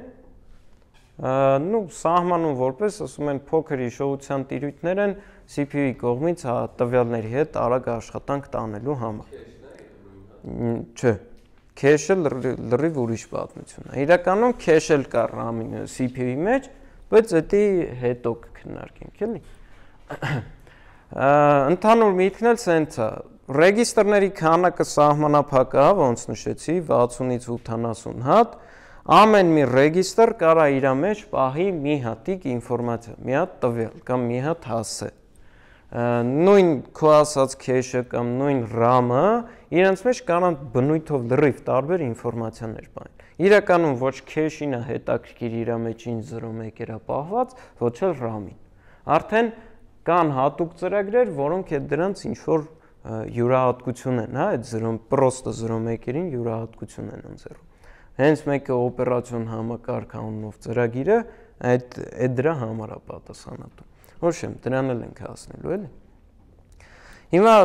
նու սահմանում որպես ասում են փոքր հիշողության տիրույթներ են C P U-ի կողմից տվյալների հետ արագ աշխատանք տանելու համար։ Չէ, cache-ը լրիվ ուրիշ պատմություն է։ Իրականում cache էլ կա RAM-ի C P U-ի մեջ, բայց դա հետո կքննարկենք, էլի։ Ընդհանուր միտքն էլ սենց է։ Ռեգիստրների քանակը սահմանափակ է, ոնց նշեցի, վաթսունից ութանասուն հատ, ամեն մի ռեգիստր կարա իր մեջ պահի մի հատիկ ինֆորմացիա, մի հատ տվյալ կամ մի հատ հասցե։ Նույն քո ասած cache-ը կամ նույն RAM-ը իրենց մեջ կարան բնույթով լրիվ տարբեր ինֆորմացիաներ պահեն։ Իրականում ոչ cache-ին է հետաքրքիր իր մեջ ինչ զրո մեկերա պահված, ոչ էլ RAM-ին։ Արդեն կան հատուկ ծրագրեր, որոնք այդ դրանց ինչ-որ յուրահատկություն են, հա, այդ զրո պրոստը զրո մեկերին յուրահատկություն են ընձեռում։ Հենց մեկը օպերացիոն համակարգ անունով ծրագիրը այդ այդ դրա համար է պատասխանատու։ Ոչ եմ, դրան էլ ենք հասնելու, էլի։ Հիմա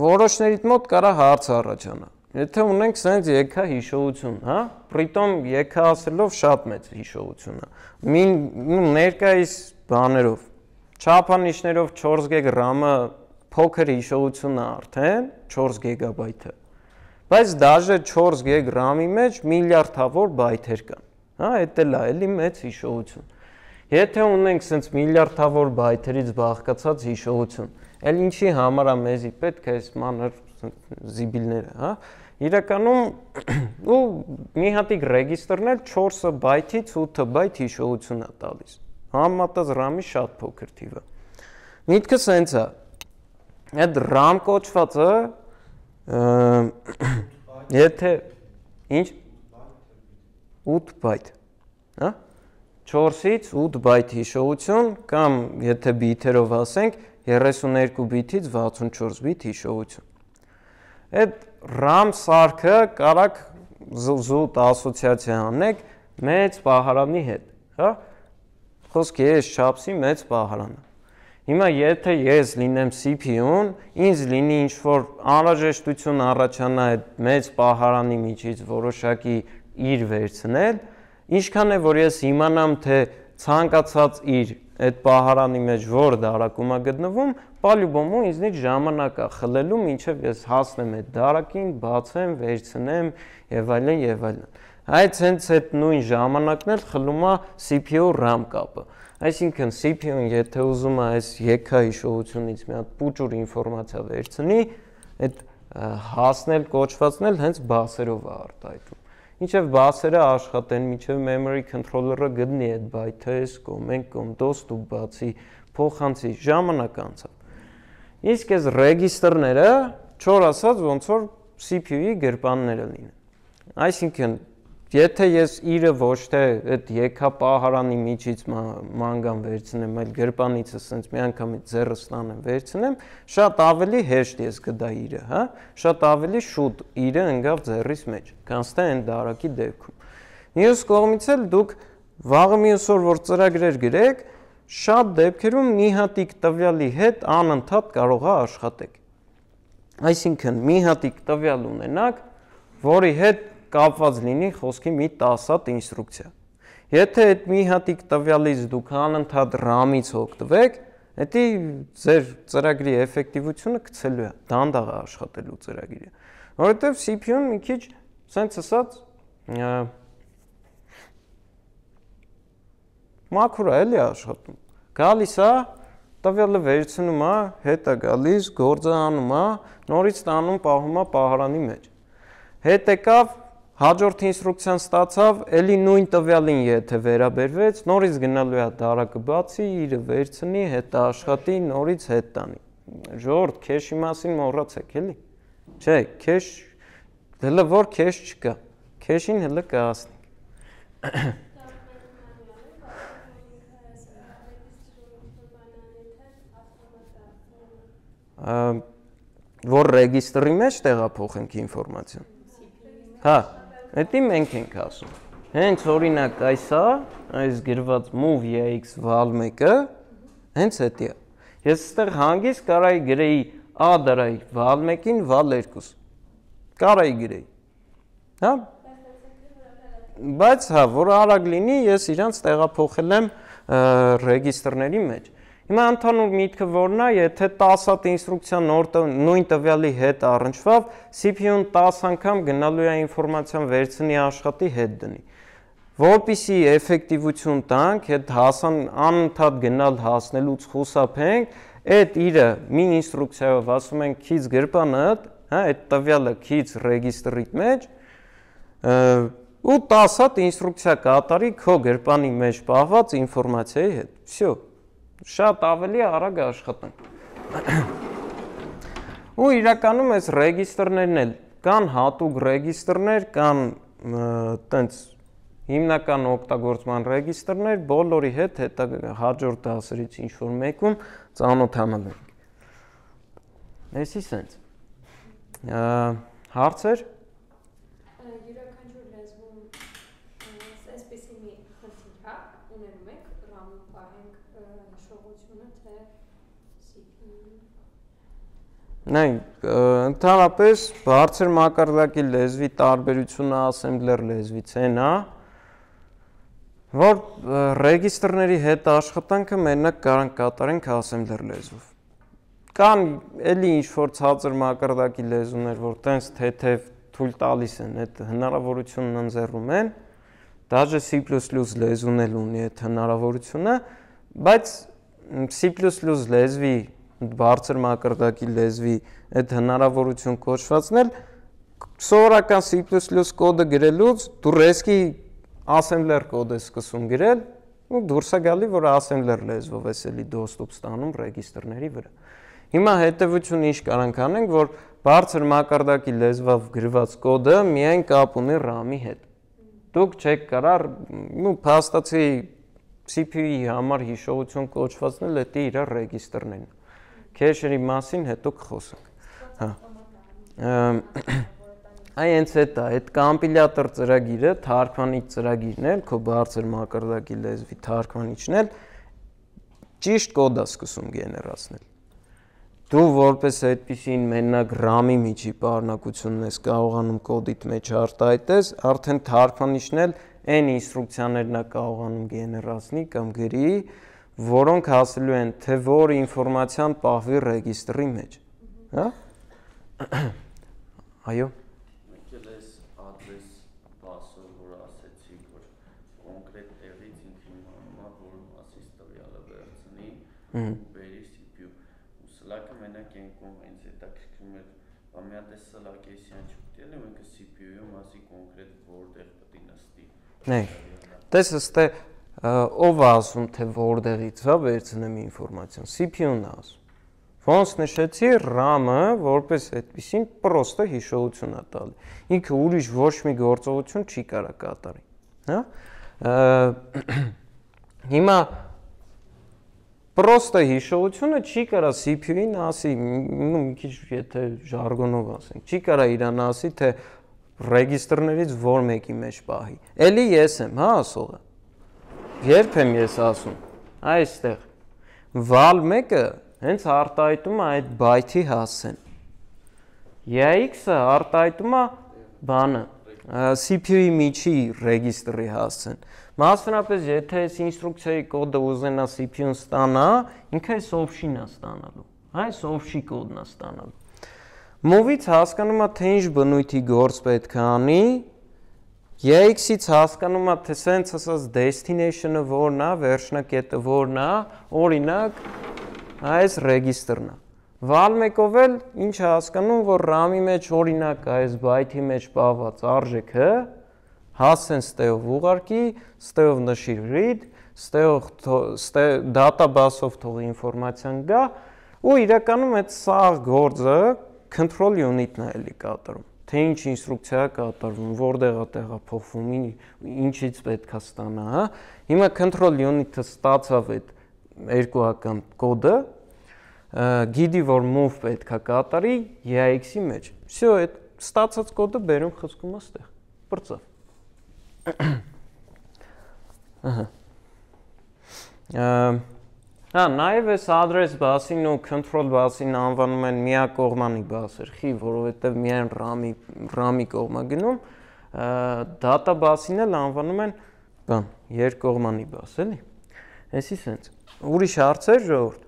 որոշներիդ մոտ կարա հարց առաջանա։ Եթե ունենք սենց եկա հիշողություն, հա, պրիտոմ եկա ասելով շատ մեծ հիշողություն է։ Մին ներկայիս բաներով, չափանիշներով չորս գիգ RAM-ը փոքր հիշողություն է արդեն, չորս գիգաբայթը։ Բայց դաժե չորս գիգ RAM-ի մեջ միլիարդավոր բայթեր կան։ Հա, դա էլ է, էլի մեծ հիշողություն։ Եթե ունենք սենց միլիարդավոր բայթերից բաղկացած հիշողություն, էլ ինչի համար է մեզի պետք է այս մանր զիբիլները, հա։ Իրականում ու մի հատիկ ռեգիստրներ չորս բայթից ութ բայթ հիշողություն է տալիս։ Համեմատած RAM-ի շատ փոքր թիվը։ Միտքը սենց է։ Այդ RAM կոչվածը եթե ինչ ութ բայթ, հա, չորսից ութ բայթ հիշողություն կամ եթե բիթերով ասենք երեսուներկու բիթից վաթսունչորս բիթ հիշողություն։ Այդ RAM սարքը կարաք զուտ ասոցիացիա անեք մեծ պահարանի հետ, հա, խոսքի ես չափսի մեծ պահարանը։ Հիմա եթե ես լինեմ C P U-ն, ինձ լինի ինչ-որ անհրաժեշտություն առաջանա այդ մեծ պահարանի միջից որոշակի իր վերցնել, ինչքան է որ ես իմանամ, թե ցանկացած իր այդ պահարանի մեջ որ դարակում է գտնվում, պալյուբոմու ինձնից ժամանակ է խլելու, մինչև ես հասնեմ այդ դարակին, բացեմ, վերցնեմ եւ այլն եւ այլն։ Այդ հենց այդ նույն ժամանակն էլ խլում է C P U RAM կապը։ Այսինքն C P U-ն եթե ուզում է այս եկա հիշողությունից մի հատ պուճուր ինֆորմացիա վերցնի, այդ հասնել, կոչվածնել հենց բասերով է արտահայտում։ Ինչև բասերը աշխատեն, մինչև memory controller-ը գտնի այդ բայթը, այս կողմ, այն կողմ, դոստուպ բացի, փոխանցի, ժամանակ անցավ։ Իսկ այս ռեգիստրները, չոր ասած, ոնց որ C P U-ի գրպանները լինեն։ Այսինքն եթե ես իրը ոչ թե այդ եկա պահարանի միջից մանգան վերցնեմ, այլ գրպանիցը սենց մի անգամից ձեռս տանեմ վերցնեմ, շատ ավելի հեշտ ես կդա իրը, հա, շատ ավելի շուտ իրը ընկավ ձեռիս մեջ, քան թե այն դարակի դեպքում։ Մյուս կողմից էլ դուք վաղը մյուս օր որ ծրագրեր գրեք, շատ դեպքերում մի հատիկ տվյալի հետ անընդհատ կարող է աշխատեք։ Այսինքն մի հատիկ տվյալ ունենաք, որի հետ կապված լինի խոսքի մի տասը հատ ինստրուկցիա։ Եթե այդ մի հատիկ տվյալից դուք անընդհատ RAM-ից օգտվեք, դա ձեր ծրագրի էֆեկտիվությունը գցելու է, դանդաղ է աշխատելու ծրագիրը։ Որովհետև C P U-ն մի քիչ սենց ասած մաքուր է էլի աշխատում։ Գալիս է, տվյալը վերցնում է, հետ է գալիս, գործը անում է, նորից տանում պահում է պահարանի մեջ։ Հետ եկավ, հաջորդ ինստրուկցիան ստացավ, էլի նույն տվյալին եթե վերաբերվեց, նորից գնալու է դարակը բացի, իրը վերցնի, հետ աշխատի, նորից հետ տանի։ Ժողովուրդ, քեշի մասին մոռացեք, էլի։ Չէ, քեշ, հələ որ քեշ չկա, քեշին հələ կհասնենք։ Որ ռեգիստրի մեջ տեղափոխենք ինֆորմացիան։ Հա, դա մենք ենք ասում։ Հենց օրինակ այսա, այս գրված move ex val մեկը, հենց դա է։ Ես այստեղ հանգիստ կարայի գրեի a դրայի val մեկին val երկու։ Կարայի գրեի։ Հա։ Բայց հա, որ արագ լինի, ես իրանց տեղափոխել եմ ռեգիստրների մեջ։ Հիմա ընդհանուր միտքը որն է, եթե տասը հատ ինստրուկցիա նույն տվյալի հետ առնչվավ, C P U-ն տասը անգամ գնալու է ինֆորմացիան վերցնի աշխատի հետ դնի։ Որպեսզի էֆեկտիվություն տանք, այդ հասան անընդհատ գնալ հասնելուց խուսափենք, այդ իրը մի ինստրուկցիայով ասում ենք քիչ գրպանը, հա, այդ տվյալը քիչ ռեգիստրիտ մեջ, ու տասը հատ ինստրուկցիա կատարի քո գրպանի մեջ պահված ինֆորմացիայի հետ։ Всё։ Շատ ավելի արագ աշխատանք։ Ու իրականում այս ռեգիստրներն էլ կան հատուկ ռեգիստրներ, կան տենց հիմնական օգտագործման ռեգիստրներ, բոլորի հետ հետա հաջորդ դասերից ինչ-որ մեկում ծանոթանալ ենք։ Էսի սենց։ Հարցեր։
Յուրաքանչյուր լեզվում այսպեսի մի խնդիր հա, ունենում ենք, RAM-ում պահենք հիշողությունը, թե C P U-ում։
Նայ, ընդհանրապես բարձր մակարդակի լեզվի տարբերությունը ասեմբլեր լեզվից են, հա, որ ռեգիստրների հետ աշխատանքը մենակ կարանք կատարենք ասեմբլեր լեզվով։ Կան էլի ինչ-որ ցածր մակարդակի լեզուներ, որ տենց թեթև թույլ տալիս են, այդ հնարավորությունն ընձեռում են, դաժե C++ լեզուն էլ ունի այդ հնարավորությունը, բայց C++ լեզվի, բարձր մակարդակի լեզվի այդ հնարավորություն կոչվածն էլ սովորական C++ կոդը գրելուց դու ռեսկի ասեմբլեր կոդ ես սկսում գրել, ու դուրս է գալի, որ ասեմբլեր լեզվով ես էլի դոստուպ ստանում ռեգիստրների վրա։ Հիմա հետևություն ինչ կարանք անենք, որ բարձր մակարդակի լեզվով գրված կոդը միայն կապ ունի RAM-ի հետ։ Դուք չեք կարող, ու փաստացի C P U-ի համար հիշողություն կոչվածն էլ դա իր ռեգիստրներն են։ Քեշերի մասին հետո կխոսենք։ Հա։ Այ հենց դա, այդ կոմպիլյատոր ծրագիրը, թարգմանիչ ծրագիրն էլ, քո բարձր մակարդակի լեզվի թարգմանիչն էլ ճիշտ կոդ է սկսում գեներացնել։ Դու որպես այդպիսին մենակ RAM-ի միջի պարունակությունն ես կարողանում կոդիդ մեջ արտահայտես, արդեն թարգմանիչն էլ այն ինստրուկցիաներն է կարողանում գեներացնի կամ գրի, որոնք հասելու են թե որ ինֆորմացիան պահվի ռեգիստրի մեջ։ Հա։ Այո։
Բերի C P U ու սլակը մենակ ենքում հենց հետաքրքրում էր ամիատ է սլակ էսյան չպետի էլ մենք C P U-ի մասի կոնկրետ որտեղ պետք է նստի։
Նայ, տես ըստե ով է ասում թե որտեղից է վերցնեմ ինֆորմացիան, C P U-ն է ասում։ Ոնց նշեցի, RAM-ը որպես այդպեսին պրոստը հիշողություն է տալի։ Ինքը ուրիշ ոչ մի գործողություն չի կարող կատարի, հա։ Հիմա պրոստը հիշողությունը չի կարա C P U-ին ասի, մի քիչ եթե ժարգոնով ասենք, չի կարա իրան ասի, թե ռեգիստրներից որ մեկի մեջ պահի։ Էլի ես եմ, հա, ասողը։ Երբ եմ ես ասում, այստեղ val մեկը հենց արտահայտում է այդ բայթի հասցեն։ E X-ը արտահայտում է բանը, C P U-ի միջի ռեգիստրի հասցեն։ Մասնավորապես, եթե այս ինստրուկցիայի կոդը ուզենա C P U-ն ստանա, ինքը այս option-ն է ստանալու, այս option կոդն է ստանալու։ Move-ից հասկանում է, թե ինչ բնույթի գործ պետք է անի, E X-ից հասկանում է, թե սենց ասած destination-ը որն է, վերջնակետը որն է, օրինակ այս ռեգիստրն է։ Վալ մեկով էլ ինչ է հասկանում, որ RAM-ի մեջ օրինակ այս byte-ի մեջ պահված արժեքը հասցեն ստեով ուղարկի, ստեով նշիր read, ստեով database-ով թող ինֆորմացիան գա ու իրականում այդ սաղ գործը control unit-ն է էլի կատարում։ Թե ինչ ինստրուկցիա է կատարվում, որտեղ է տեղափոխվում, ինչից պետք է ստանա, հա։ Հիմա control unit-ը ստացավ այդ երկուական կոդը, գիտի որ move պետք է կատարի E A X-ի մեջ։ Всё, այդ ստացած կոդը բերում խցկում է ստեղ։ Բրծավ։ Ահա։ Հա, նաև այս address բասին ու control բասին անվանում են միակողմանի բասեր, խի, որովհետև միայն RAM-ի RAM-ի կողմա գնում, data բասին էլ անվանում են բան, երկկողմանի բաս, էլի։ Էսի սենց։ Ուրիշ հարցեր ժողովուրդ։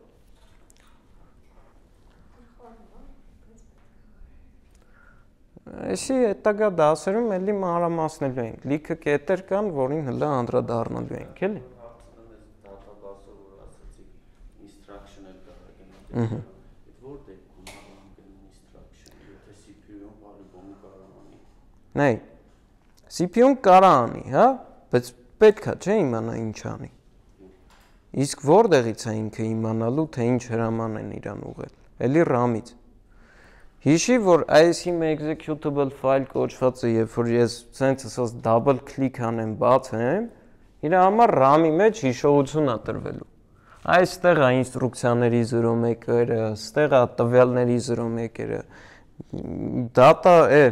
Էսի հետագա դասերում էլի մանրամասնելու ենք։ Լիքը կետեր կան, որին հլը անդրադառնալու ենք, էլի։ Ահա։ Որ դեպքում անգլին instruction, եթե C P U-ն բարիբոմը կարող անի։ Նայ, C P U-ն կարող անի, հա, բայց պետք է չէ իմանա ինչ անի։ Իսկ որտեղից է ինքը իմանալու, թե ինչ հրաման են իրան ուղղել։ Էլի RAM-ից։ Հիշի, որ I S M executable file կոչվածը, երբ որ ես ցենց ասած double click անեմ, բացեմ, իր համար RAM-ի մեջ հիշողություն է տրվելու։ Այստեղ է ինստրուկցիաների զրո մեկերը, ստեղ է տվյալների զրո մեկերը, data է,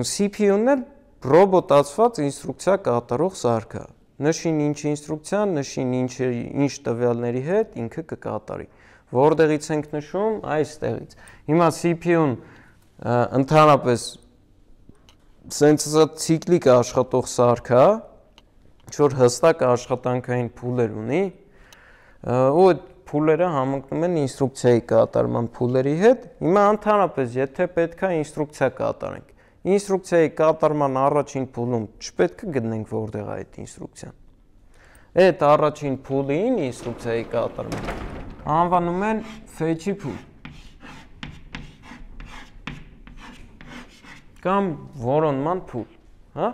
C P U-ն էլ ռոբոտացված ինստրուկցիա կատարող սարք է, նշին ինչ ինստրուկցիա, նշին ինչ տվյալների հետ ինքը կկատարի, որտեղից ենք նշում, այստեղից, հիմա C P U-ն ընդհանրապես սենց ցիկլիկ աշխատող սարք է, որ հստակ աշխատանքային փուլեր ունի, ու այդ փուլերը համընկնում են ինստրուկցիայի կատարման փուլերի հետ, հիմա ընդհանրապես եթե պետք է ինստրուկցիա կատարենք, ինստրուկցիայի կատարման առաջին փուլում չպետք է գտնենք որտեղ է այդ ինստրուկցիան։ Այդ առաջին փուլին ինստրուկցիայի կատարման անվանում են fetch-ի փուլ կամ որոնման փուլ, հա։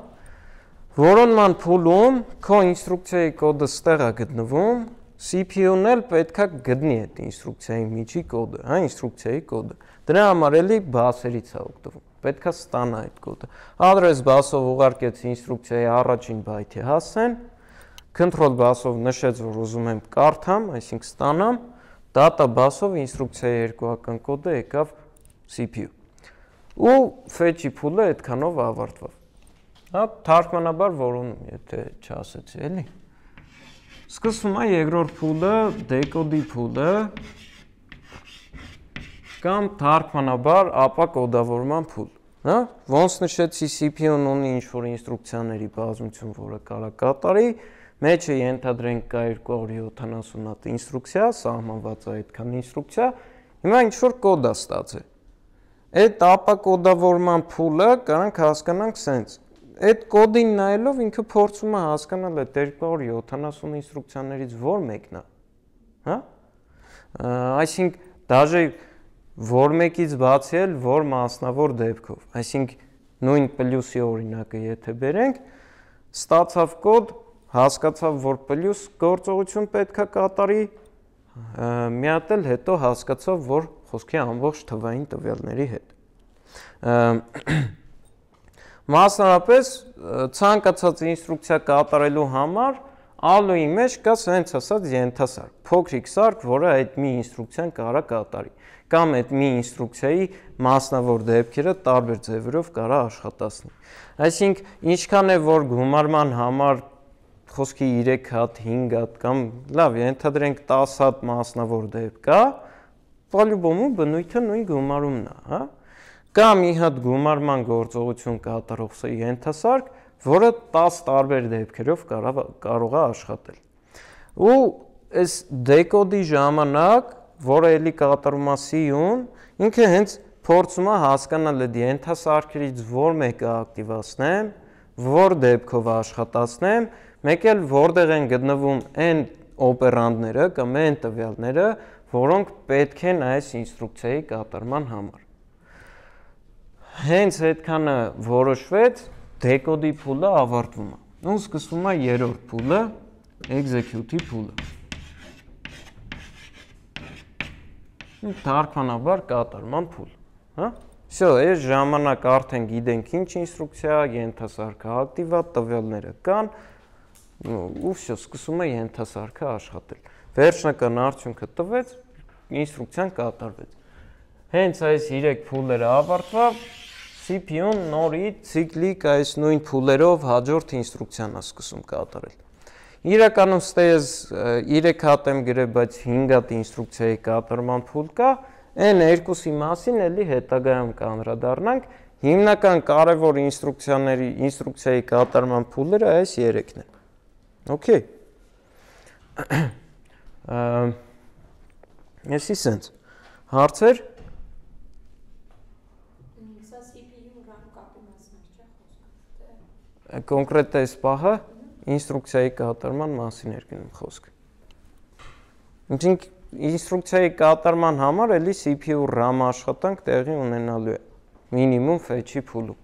Որոնման փուլում քո ինստրուկցիայի կոդը ստեղ է գտնվում, C P U-ն էլ պետք է գտնի այդ ինստրուկցիայի միջի կոդը, հա, ինստրուկցիայի կոդը։ Դրա համար էլի բասերից է օգտվում։ Պետք է ստանա այդ կոդը։ Address բասով ուղարկեց ինստրուկցիայի առաջին byte-ի հասցեն, control բասով նշեց, որ ուզում եմ կարդամ, այսինքն ստանամ, data բասով ինստրուկցիայի երկուական կոդը եկավ C P U։ Ու fetch-ի փուլը այդքանով ավարտվավ։ Հա, թարգմանաբար որոնում, եթե չասեցի, էլի։ Սկսվում է երկրորդ փուլը, decode-ի փուլը կամ թարգմանաբար ապա կոդավորման փուլ, հա, ոնց նշեցի C P U-ն ունի ինչ-որ ինստրուկցիաների բազմություն, որը կարող կատարի, մեջը ենթադրենք կա երկու հարյուր յոթանասուն հատ ինստրուկցիա, սահմանված է այդքան ինստրուկցիա, հիմա ինչ-որ կոդ է ստացել։ Այդ ապա կոդավորման փուլը կարանք հասկանանք սենց։ Այդ կոդին նայելով ինքը փորձում է հասկանալ այդ երկու հարյուր յոթանասուն ինստրուկցիաներից որ մեկն է, հա։ Այսինքն դաժե որ մեկից բացի էլ որ մասնավոր դեպքով, այսինքն նույն պլյուսի օրինակը եթե բերենք, ստացավ կոդ, հասկացավ որ պլյուս գործողություն պետք է կատարի, մի հատ էլ հետո հասկացավ որ խոսքի ամբողջ թվային տվյալների հետ։ Մասնավորապես ցանկացած ինստրուկցիա կատարելու համար ալոյի մեջ կա սենց ասած ենթասարք, փոքրիկ սարք, որը այդ մի ինստրուկցիան կարա կատարի, կամ այդ մի ինստրուկցիայի մասնավոր դեպքերը տարբեր ձևերով կարա աշխատացնի։ Այսինքն ինչքան է որ գումարման համար խոսքի երեք հատ, հինգ հատ կամ լավ, ենթադրենք տասը հատ մասնավոր դեպք կա, պալյուբոմու բնույթը նույն գումարումն է, հա։ Կա մի հատ գումարման գործողություն կատարող ենթասարք, որը տասը տարբեր դեպքերով կարող է աշխատել։ Ու այս decode-ի ժամանակ, որը էլի կատարում է C-ում, ինքը հենց փորձում է հասկանալ այդ ենթասարքերից որ մեկը ակտիվացնեմ, որ դեպքով աշխատացնեմ, մեկ էլ որտեղ են գտնվում այն օպերանդները կամ այն տվյալները, որոնք պետք են այս ինստրուկցիայի կատարման համար։ Հենց այդքանը որոշվեց, decode-ի փուլը ավարտվում է։ Ու սկսվում է երրորդ փուլը, execute-ի փուլը։ Թարգմանաբար կատարման փուլ, հա։ Всё, այս ժամանակ արդեն գիտենք ինչ ինստրուկցիա, ենթասարքը ակտիվա, տվյալները կան, ու всё, սկսում է ենթասարքը աշխատել։ Վերջնական արդյունքը տվեց, ինստրուկցիան կատարվեց։ Հենց այս երեք փուլերը ավարտվավ, C P U-ն նորից ցիկլիկ այս նույն փուլերով հաջորդ ինստրուկցիան է սկսում կատարել։ Իրականում ստեյս երեք հատ եմ գրել, բայց հինգ հատ ինստրուկցիայի կատարման փուլ կա, այն երկուսի մասին էլի հետագայում կանդրադառնանք, հիմնական կարևոր ինստրուկցիաների, ինստրուկցիայի կատարման փուլերը այս երեքն են։ Okay։ Եսի սենց, հարցեր։
Սա C P U RAM կապի մասն չէ խոսքը։
Կոնկրետ այս պահը ինստրուկցիայի կատարման մասին էր գնում խոսքը։ Ինչինք ինստրուկցիայի կատարման համար էլի C P U RAM աշխատանք տեղի ունենալու է, մինիմում fetch-ի փուլում։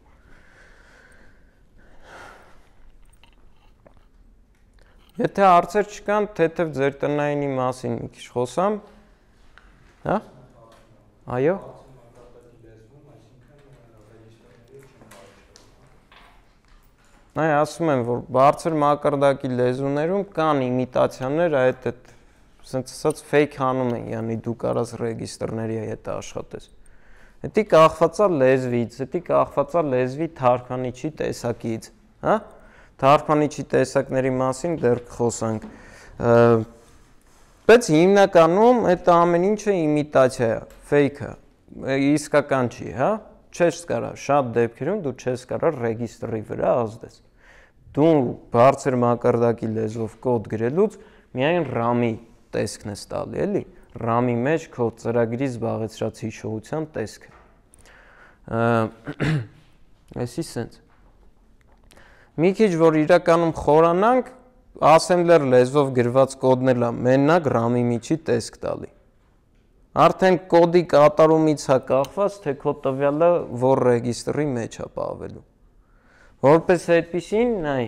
Եթե հարցեր չկան, թեթև ձեր տնայինի մասին մի քիչ խոսամ, հա? Այո։ Այ ասում եմ, որ բարձր մակարդակի լեզուներում կան իմիտացիաներ, այդ այդ սենց ասած fake հանում են, յանի դու կարաս ռեգիստրների հետ աշխատես։ Դա կախված է լեզվից, դա կախված է լեզվի թարգմանիչի տեսակից, հա? Թարգմանիչի տեսակների մասին դեռ կխոսանք։ Բայց հիմնականում այդ ամեն ինչը իմիտացիա է, fake է, իսկական չի, հա? Չես կարա, շատ դեպքերում դու չես կարա ռեգիստրի վրա ազդես։ Դու բարձր մակարդակի լեզվով կոդ գրելուց միայն RAM-ի տեսքն ես տալի, էլի։ RAM-ի մեջ քո ծրագրի զբաղեցրած հիշողության տեսքը։ Այսի սենց։ Մի քիչ որ իրականում խորանանք, assembler լեզվով գրված կոդն էլ է մենակ RAM-ի միջի տեսք տալի։ Արդեն կոդի կատարումից է կախված, թե քո տվյալը որ ռեգիստրի մեջ է պահվելու։ Որպես այդպիսին, նայ։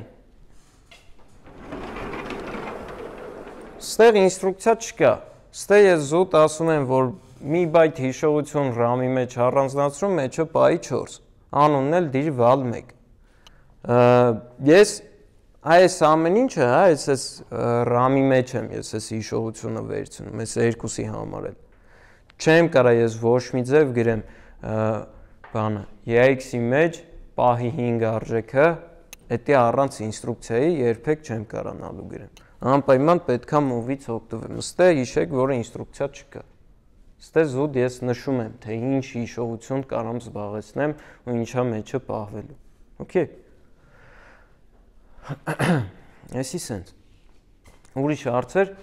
Ստեղ ինստրուկցիա չկա։ Ստեղ ես զուտ ասում եմ, որ մի բայթ հիշողություն RAM-ի մեջ առանձնացրում, մեջը պայի չորս։ Անունն էլ դիր վալ մեկ։ Ես այս ամեն ինչը, հա, ես RAM-ի մեջ եմ, ես այս հիշողությունը վերցնում, ես երկուսի համար էլ։ Չեմ կարա ես ոչ մի ձև գրեմ բանը, E X-ի մեջ պահի հինգ արժեքը, էդի առանց ինստրուկցիայի երբեք չեմ կարանալու գրեմ։ Անպայման պետքա move-ից օգտվեմ, ստե հիշեք, որ ինստրուկցիա չկա։ Ստե զուտ ես նշում եմ, թե ինչ հիշողություն կարամ զբաղեցնեմ ու ինչա մեջը պահվելու։ Okay։ Այսի սենց։ Ուրիշ հարցեր։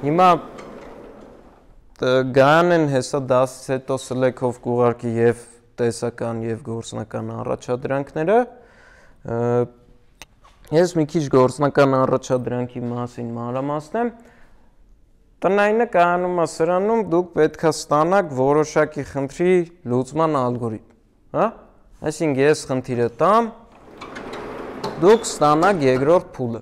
Հիմա Գայանեն հեսա դասից հետո սլեքով կուղարկի և տեսական և գործնական առաջադրանքները։ Ես մի քիչ գործնական առաջադրանքի մասին մանրամասնեմ։ Տնայինը կայանում է սրանում, դուք պետք է ստանաք որոշակի խնդրի լուծման ալգորիթմ, հա? Այսինքն ես խնդիրը տամ, դուք ստանաք երկրորդ փուլը։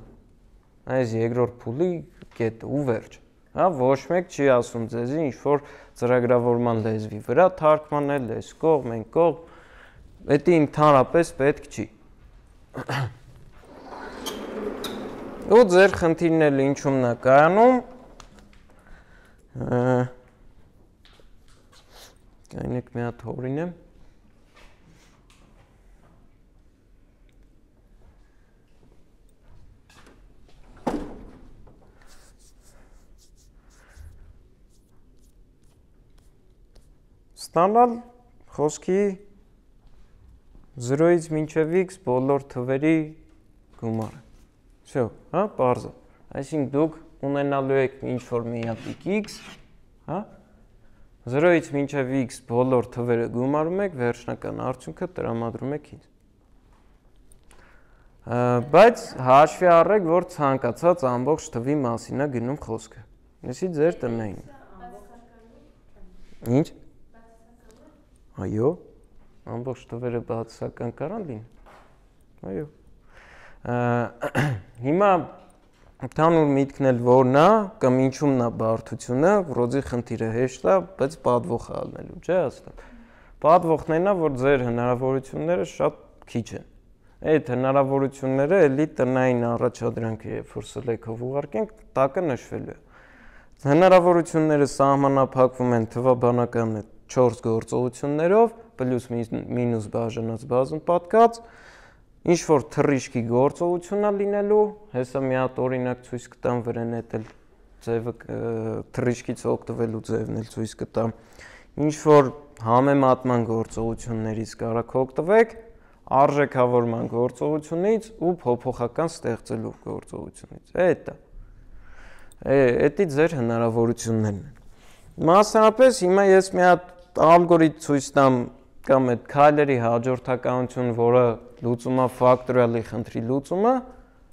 Այս երկրորդ փուլի կետը ու վերջ։ Հա, ոչ մեկ չի ասում ձեզի ինչ որ ծրագրավորման լեզվի վրա թարգմանել, այս կողմ, այն կողմ, դա ընդհանրապես պետք չի։ Ու ձեր խնդիրն էլ ինչումն է կայանում։ Կայնեք մի հատ հորինեմ։ Ստանալ խոսքի զրոյից մինչև x բոլոր թվերի գումարը։ Всё, հա, պարզ է։ Այսինքն դուք ունենալու եք ինչ-որ մի հատիկ x, հա, զրոյից մինչև x բոլոր թվերը գումարում եք, վերջնական արդյունքը տրամադրում եք ինձ։ Բայց հաշվի առեք, որ ցանկացած ամբողջ թվի մասին է գնում խոսքը։ Այսի ձեր տնային։ Ինչ։ Այո, ամբողջ թվերը բացասական կարան լինեն։ Այո։ Հիմա ընդհանուր միտքն էլ որն է, կամ ինչումն է բարդությունը, ռոզի խնդիրը հեշտ է, բայց պատվող է ալնելու, չէ՞ հաստատ։ Պատվողներն է, որ ձեր հնարավորությունները շատ քիչ են։ Այդ հնարավորությունները էլի տնային առաջադրանքը, երբ որ սլեքով ուղարկենք, տակը նշվելու է։ Հնարավորությունները սահմանափակվում են թվաբանական չորս գործողություններով, պլյուս մինուս բաժանած բազում պատկած, ինչ որ թռիչքի գործողություն է լինելու, հեսա մի հատ օրինակ ցույց կտամ վրան էտել ձևը թռիչքից օգտվելու ձևն էլ ցույց կտամ։ Ինչ որ համեմատման գործողություններից կարաք օգտվեք, արժեքավորման գործողությունից ու փոփոխական ստեղծելու գործողությունից։ Այդ է։ Էդի ձեր հնարավորություններն են։ Մասնավորապես հիմա ես մի հատ ալգորիթմ ցույց տամ կամ այդ քայլերի հաջորդականություն, որը լուծում է ֆակտորիալի խնդրի լուծումը,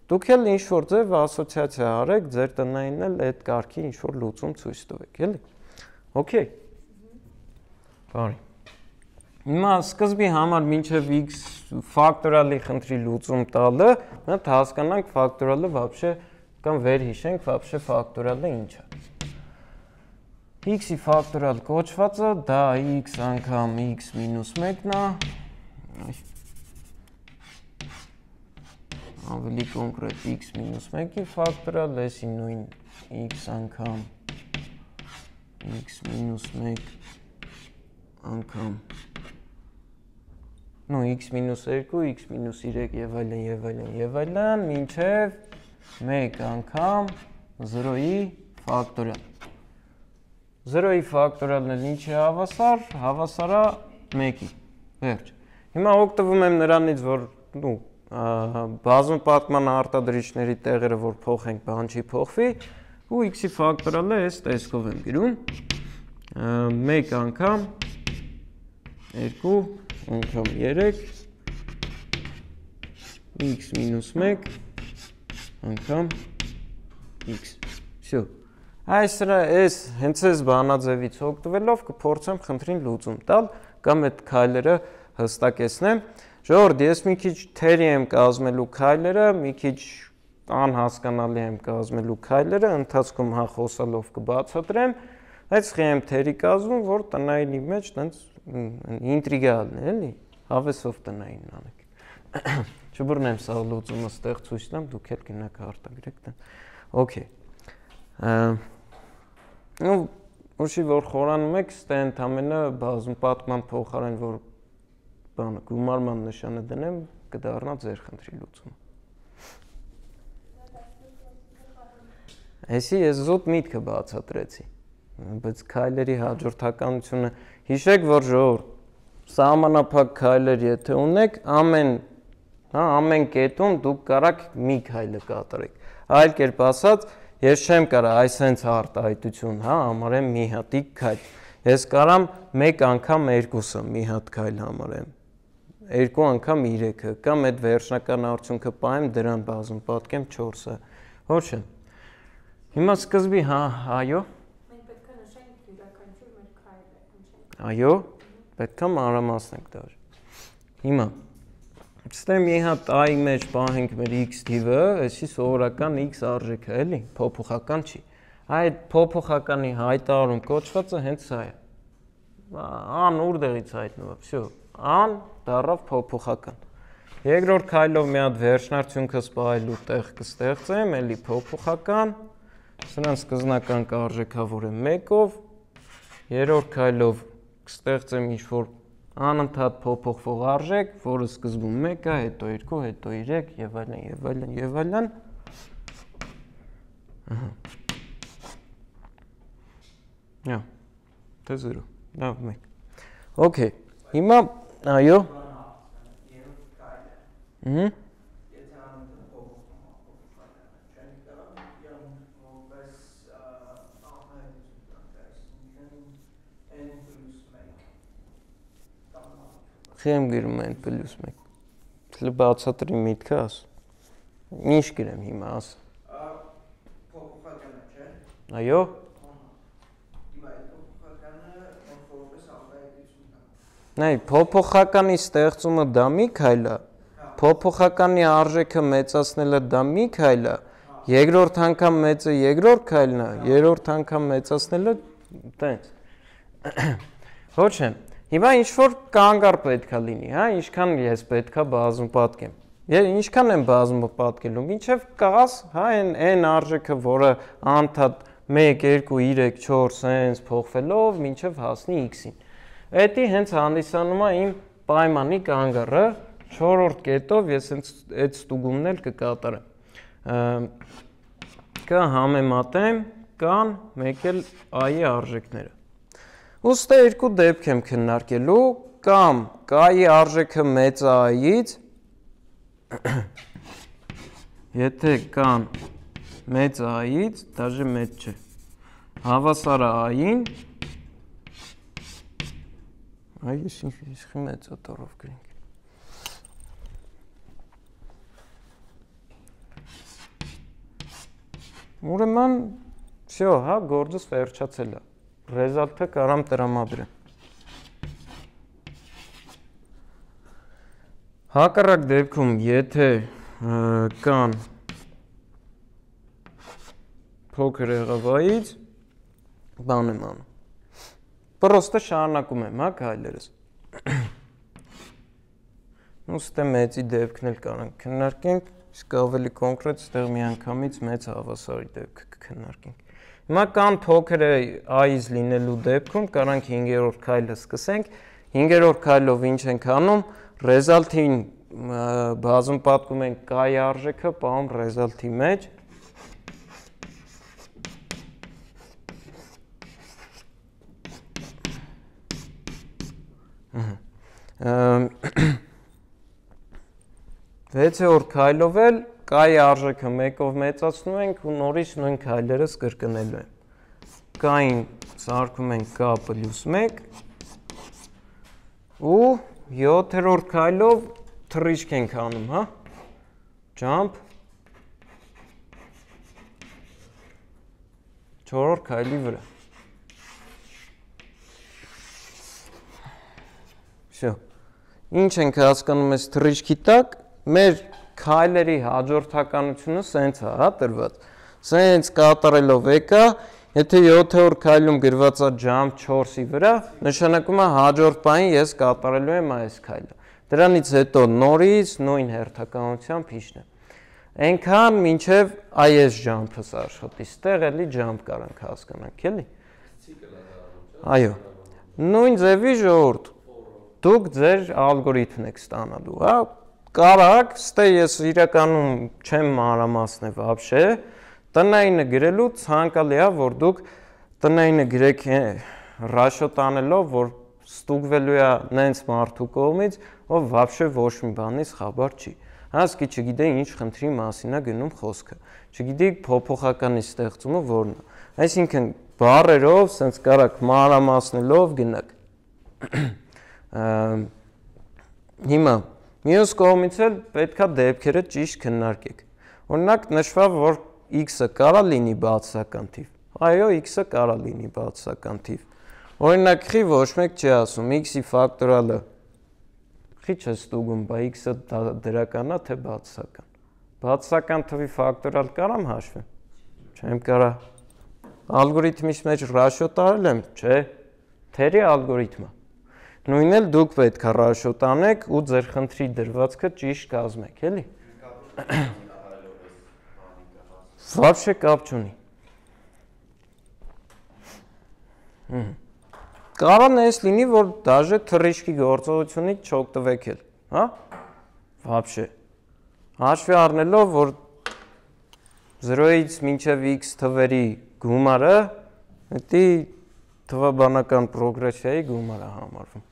դուք էլ ինչ որ ձև ասոցիացիա արեք, ձեր տնայինն էլ այդ կարգի ինչ որ լուծում ցույց տվեք, էլի։ Okay։ Բարի։ Հիմա սկզբի համար մինչև x ֆակտորիալի խնդրի լուծում տալը, մենք հասկանանք ֆակտորիալը вообще կամ վերհիշենք вообще ֆակտորիալը ինչ է։ X-ի ֆակտորիալ կոչվածը դա x անգամ x մինուս մեկն է։ Ավելի կոնկրետ x մինուս մեկի ֆակտորիալ, էսի նույն x անգամ x մինուս մեկ անգամ նո x մինուս երկու, x մինուս երեք եւ այլն եւ այլն եւ այլն մինչեւ մեկ անգամ զրոյի ֆակտորիալ։ Զրոյի ֆակտորիալն էլ ինչ է հավասար, հավասար է մեկի։ Վերջ։ Հիմա օգտվում եմ նրանից, որ նու բազում պատման արտադրիչների տեղերը որ փոխենք, բան չի փոխվի, ու x-ի ֆակտորիալը այս տեսքով եմ գրում։ մեկ անգամ երկու անգամ երեք x մինուս մեկ անգամ x։ Всё։ Այսրա էս հենց այս բանաձևից օգտվելով կփորձեմ խնդրին լուծում տալ կամ այդ քայլերը հստակեցնեմ։ Ժողովուրդ, ես մի քիչ թերի եմ կազմելու քայլերը, մի քիչ անհասկանալի եմ կազմելու քայլերը, ընթացքում հա խոսալով կբացատրեմ, բայց խի եմ թերի կազմում, որ տնայինի մեջ տենց ինտրիգալն է, էլի, հավեսով տնայինն անեք։ Չբռնեմ սա լուծումը ստեղ ցույց տամ, դուք էլ գնաք արտագրեք տան։ Okay։ Ու ուշի որ խորանում եք, ստե ընդամենը բազում պատման փոխարեն որ բանը գումարման նշանը դնեմ, կդառնա ձեր խնդրի լուծումը։ Այսի ես զուտ միտքը բացատրեցի, բայց քայլերի հաջորդականությունը հիշեք, որ ժողովուրդ, սահմանափակ քայլեր եթե ունեք, ամեն, հա, ամեն կետում դուք կարաք մի քայլը կատարեք։ Այլ կերպ ասած, ես չեմ կարա այս հենց արտահայտություն, հա, համարեմ մի հատիկ քայլ։ Ես կարամ մեկ անգամ երկուսը մի հատ քայլ համարեմ։ Երկու անգամ երեքը, կամ այդ վերջնական արդյունքը պահեմ դրան բազում պատկեմ չորսը։ Ոչ չէ։ Հիմա սկզբի, հա, այո։
Մենք պետք է նշենք յուրաքանչյուր մեր քայլը։
Այո, պետք է մանրամասնենք դար։ Հիմա ստե մի հատ i մեջ պահենք մեր x թիվը, այսի սովորական x արժեքը, էլի, փոփոխական չի։ Այդ փոփոխականի հայտարարում կոչվածը հենց սա է։ Ան ուրդեղից հայտնվում է, всё, ան դառավ փոփոխական։ Երկրորդ քայլով մի հատ վերջնարդյունքը սպայելու տեղ կստեղծեմ, էլի փոփոխական, սրանց սկզբնական կարժեքավորեմ մեկով, երրորդ քայլով կստեղծեմ ինչ-որ անընդհատ փոփոխվող արժեք, որը սկզբում մեկ է, հետո երկու, հետո երեք եւ այլն եւ այլն եւ այլն։ Ահա։ Յա։ Դա զրո։ Լավ մեկ։ Okay։ Հիմա այո։ Հմ։ Խեմ գրում են պլյուս մեկ։ Դե բացատրի միտքը աս։ Ինչ գրեմ հիմա աս։
Փոփոխականը, չէ՞։
Այո։
Հիմա այդ փոփոխականը որպես արտահայտություն կա։
Նայ, փոփոխականի ստեղծումը դա մի քայլ է։ Փոփոխականի արժեքը մեծացնելը դա մի քայլ է։ Երկրորդ անգամ մեծը երկրորդ քայլն է, երրորդ անգամ մեծացնելը տենց։ Ոչ է։ Հիմա ինչ որ կանգար պետքա լինի, հա, ինչքան ես պետքա բազում պատկեմ։ Ես ինչքան եմ բազումը պատկելու, մինչև կաս, հա, այն այն արժեքը, որը անդադ մեկ, երկու, երեք, չորս հենց փոխվելով մինչև հասնի x-ին։ Էդի հենց հանդիսանում է իմ պայմանի կանգառը, չորրորդ կետով ես հենց այդ ստուգումն էլ կկատարեմ։ Կհամեմատեմ կան մեկ էլ i-ի արժեքները։ Ուստի երկու դեպք եմ քննարկելու, կամ k-ի արժեքը մեծ է i-ից, եթե կան մեծ է i-ից, դաժե մեծ չէ, հավասար է i-ին, այ ես ինչ մեծ է տորով գրենք։ Ուրեմն, всё, հա, գործս վերջացել է։ Ռեզալտը կարամ տրամադրեմ։ Հակառակ դեպքում, եթե կան փոքր եղավայից, բան եմ անում։ Պրոստը շարունակում եմ, հա, քայլերս։ Ուստի մեծի դեպքն էլ կարանք քննարկենք, իսկ ավելի կոնկրետ ստեղ միանգամից մեծ հավասարի դեպք կքննարկենք։ Հիմա կան փոքր i-ից լինելու դեպքում կարանք հինգերորդ քայլը սկսենք։ Հինգերորդ քայլով ինչ ենք անում, ռեզալտին բազում պատկում ենք k-ի արժեքը, պահում ռեզալտի մեջ։ վեցերորդ քայլով էլ k-ի արժեքը մեկով մեծացնում ենք ու նորից նույն քայլերս կրկնելու են։ K-ին սարքում ենք k պլյուս մեկ ու յոթերորդ քայլով թռիչք ենք անում, հա։ Jump չորրորդ քայլի վրա։ Всё։ Ինչ ենք հասկանում այս թռիչքի տակ, մեր քայլերի հաջորդականությունը սենց է, հա, տրված։ Սենց կատարելով եկա, եթե յոթերորդ քայլում գրված է jump չորսի վրա, նշանակում է հաջորդ բանին ես կատարելու եմ այս քայլը։ Դրանից հետո նորից նույն հերթականությամբ իջնեմ։ Այնքան մինչև այս jump-ս աշխատի, ստեղ էլի jump կարանք հասկանանք, էլի։ Այո։ Նույն ձևի ժողովուրդ, դուք ձեր ալգորիթմն եք ստանալու, հա։ Կարակ, ստե ես իրականում չեմ մանրամասնել вообще, տնայինը գրելու ցանկալի է, որ դուք տնայինը գրեք ռաշոտ անելով, որ ստուգվելու է նենց մարդու կողմից, ով вообще ոչ մի բանից խաբար չի։ Հասկի չգիտե ինչ խնդրի մասին է գնում խոսքը։ Չգիտի փոփոխականի ստեղծումը որն է։ Այսինքն բառերով, սենց կարակ մանրամասնելով գնաք։ Հիմա մյուս կողմից էլ պետքա դեպքերը ճիշտ քննարկեք։ Օրինակ նշված որ x-ը կարա լինի բացասական թիվ։ Այո, x-ը կարա լինի բացասական թիվ։ Օրինակ խի ոչ մեկ չի ասում x-ի ֆակտորալը խի չէ ստուգում, բա x-ը դրական է թե բացասական։ Բացասական թվի ֆակտորալ կարամ հաշվեմ։ Չեմ կարա։ Ալգորիթմից մեջ ռաշոտ արել եմ, չէ։ Թերի ալգորիթմը։ Նույնն էլ դուք պետք է ռաշոտ անեք ու ձեր խնդրի դրվածքը ճիշտ կազմեք, էլի։ Вообще կապ չունի։ Կարան էս լինի, որ դաժե թռիչքի գործողությունից չօգտվեք էլ, հա։ Вообще։ Հաշվի առնելով, որ զրոյից մինչև x թվերի գումարը, դա թվաբանական պրոգրեսիայի գումար է համարվում։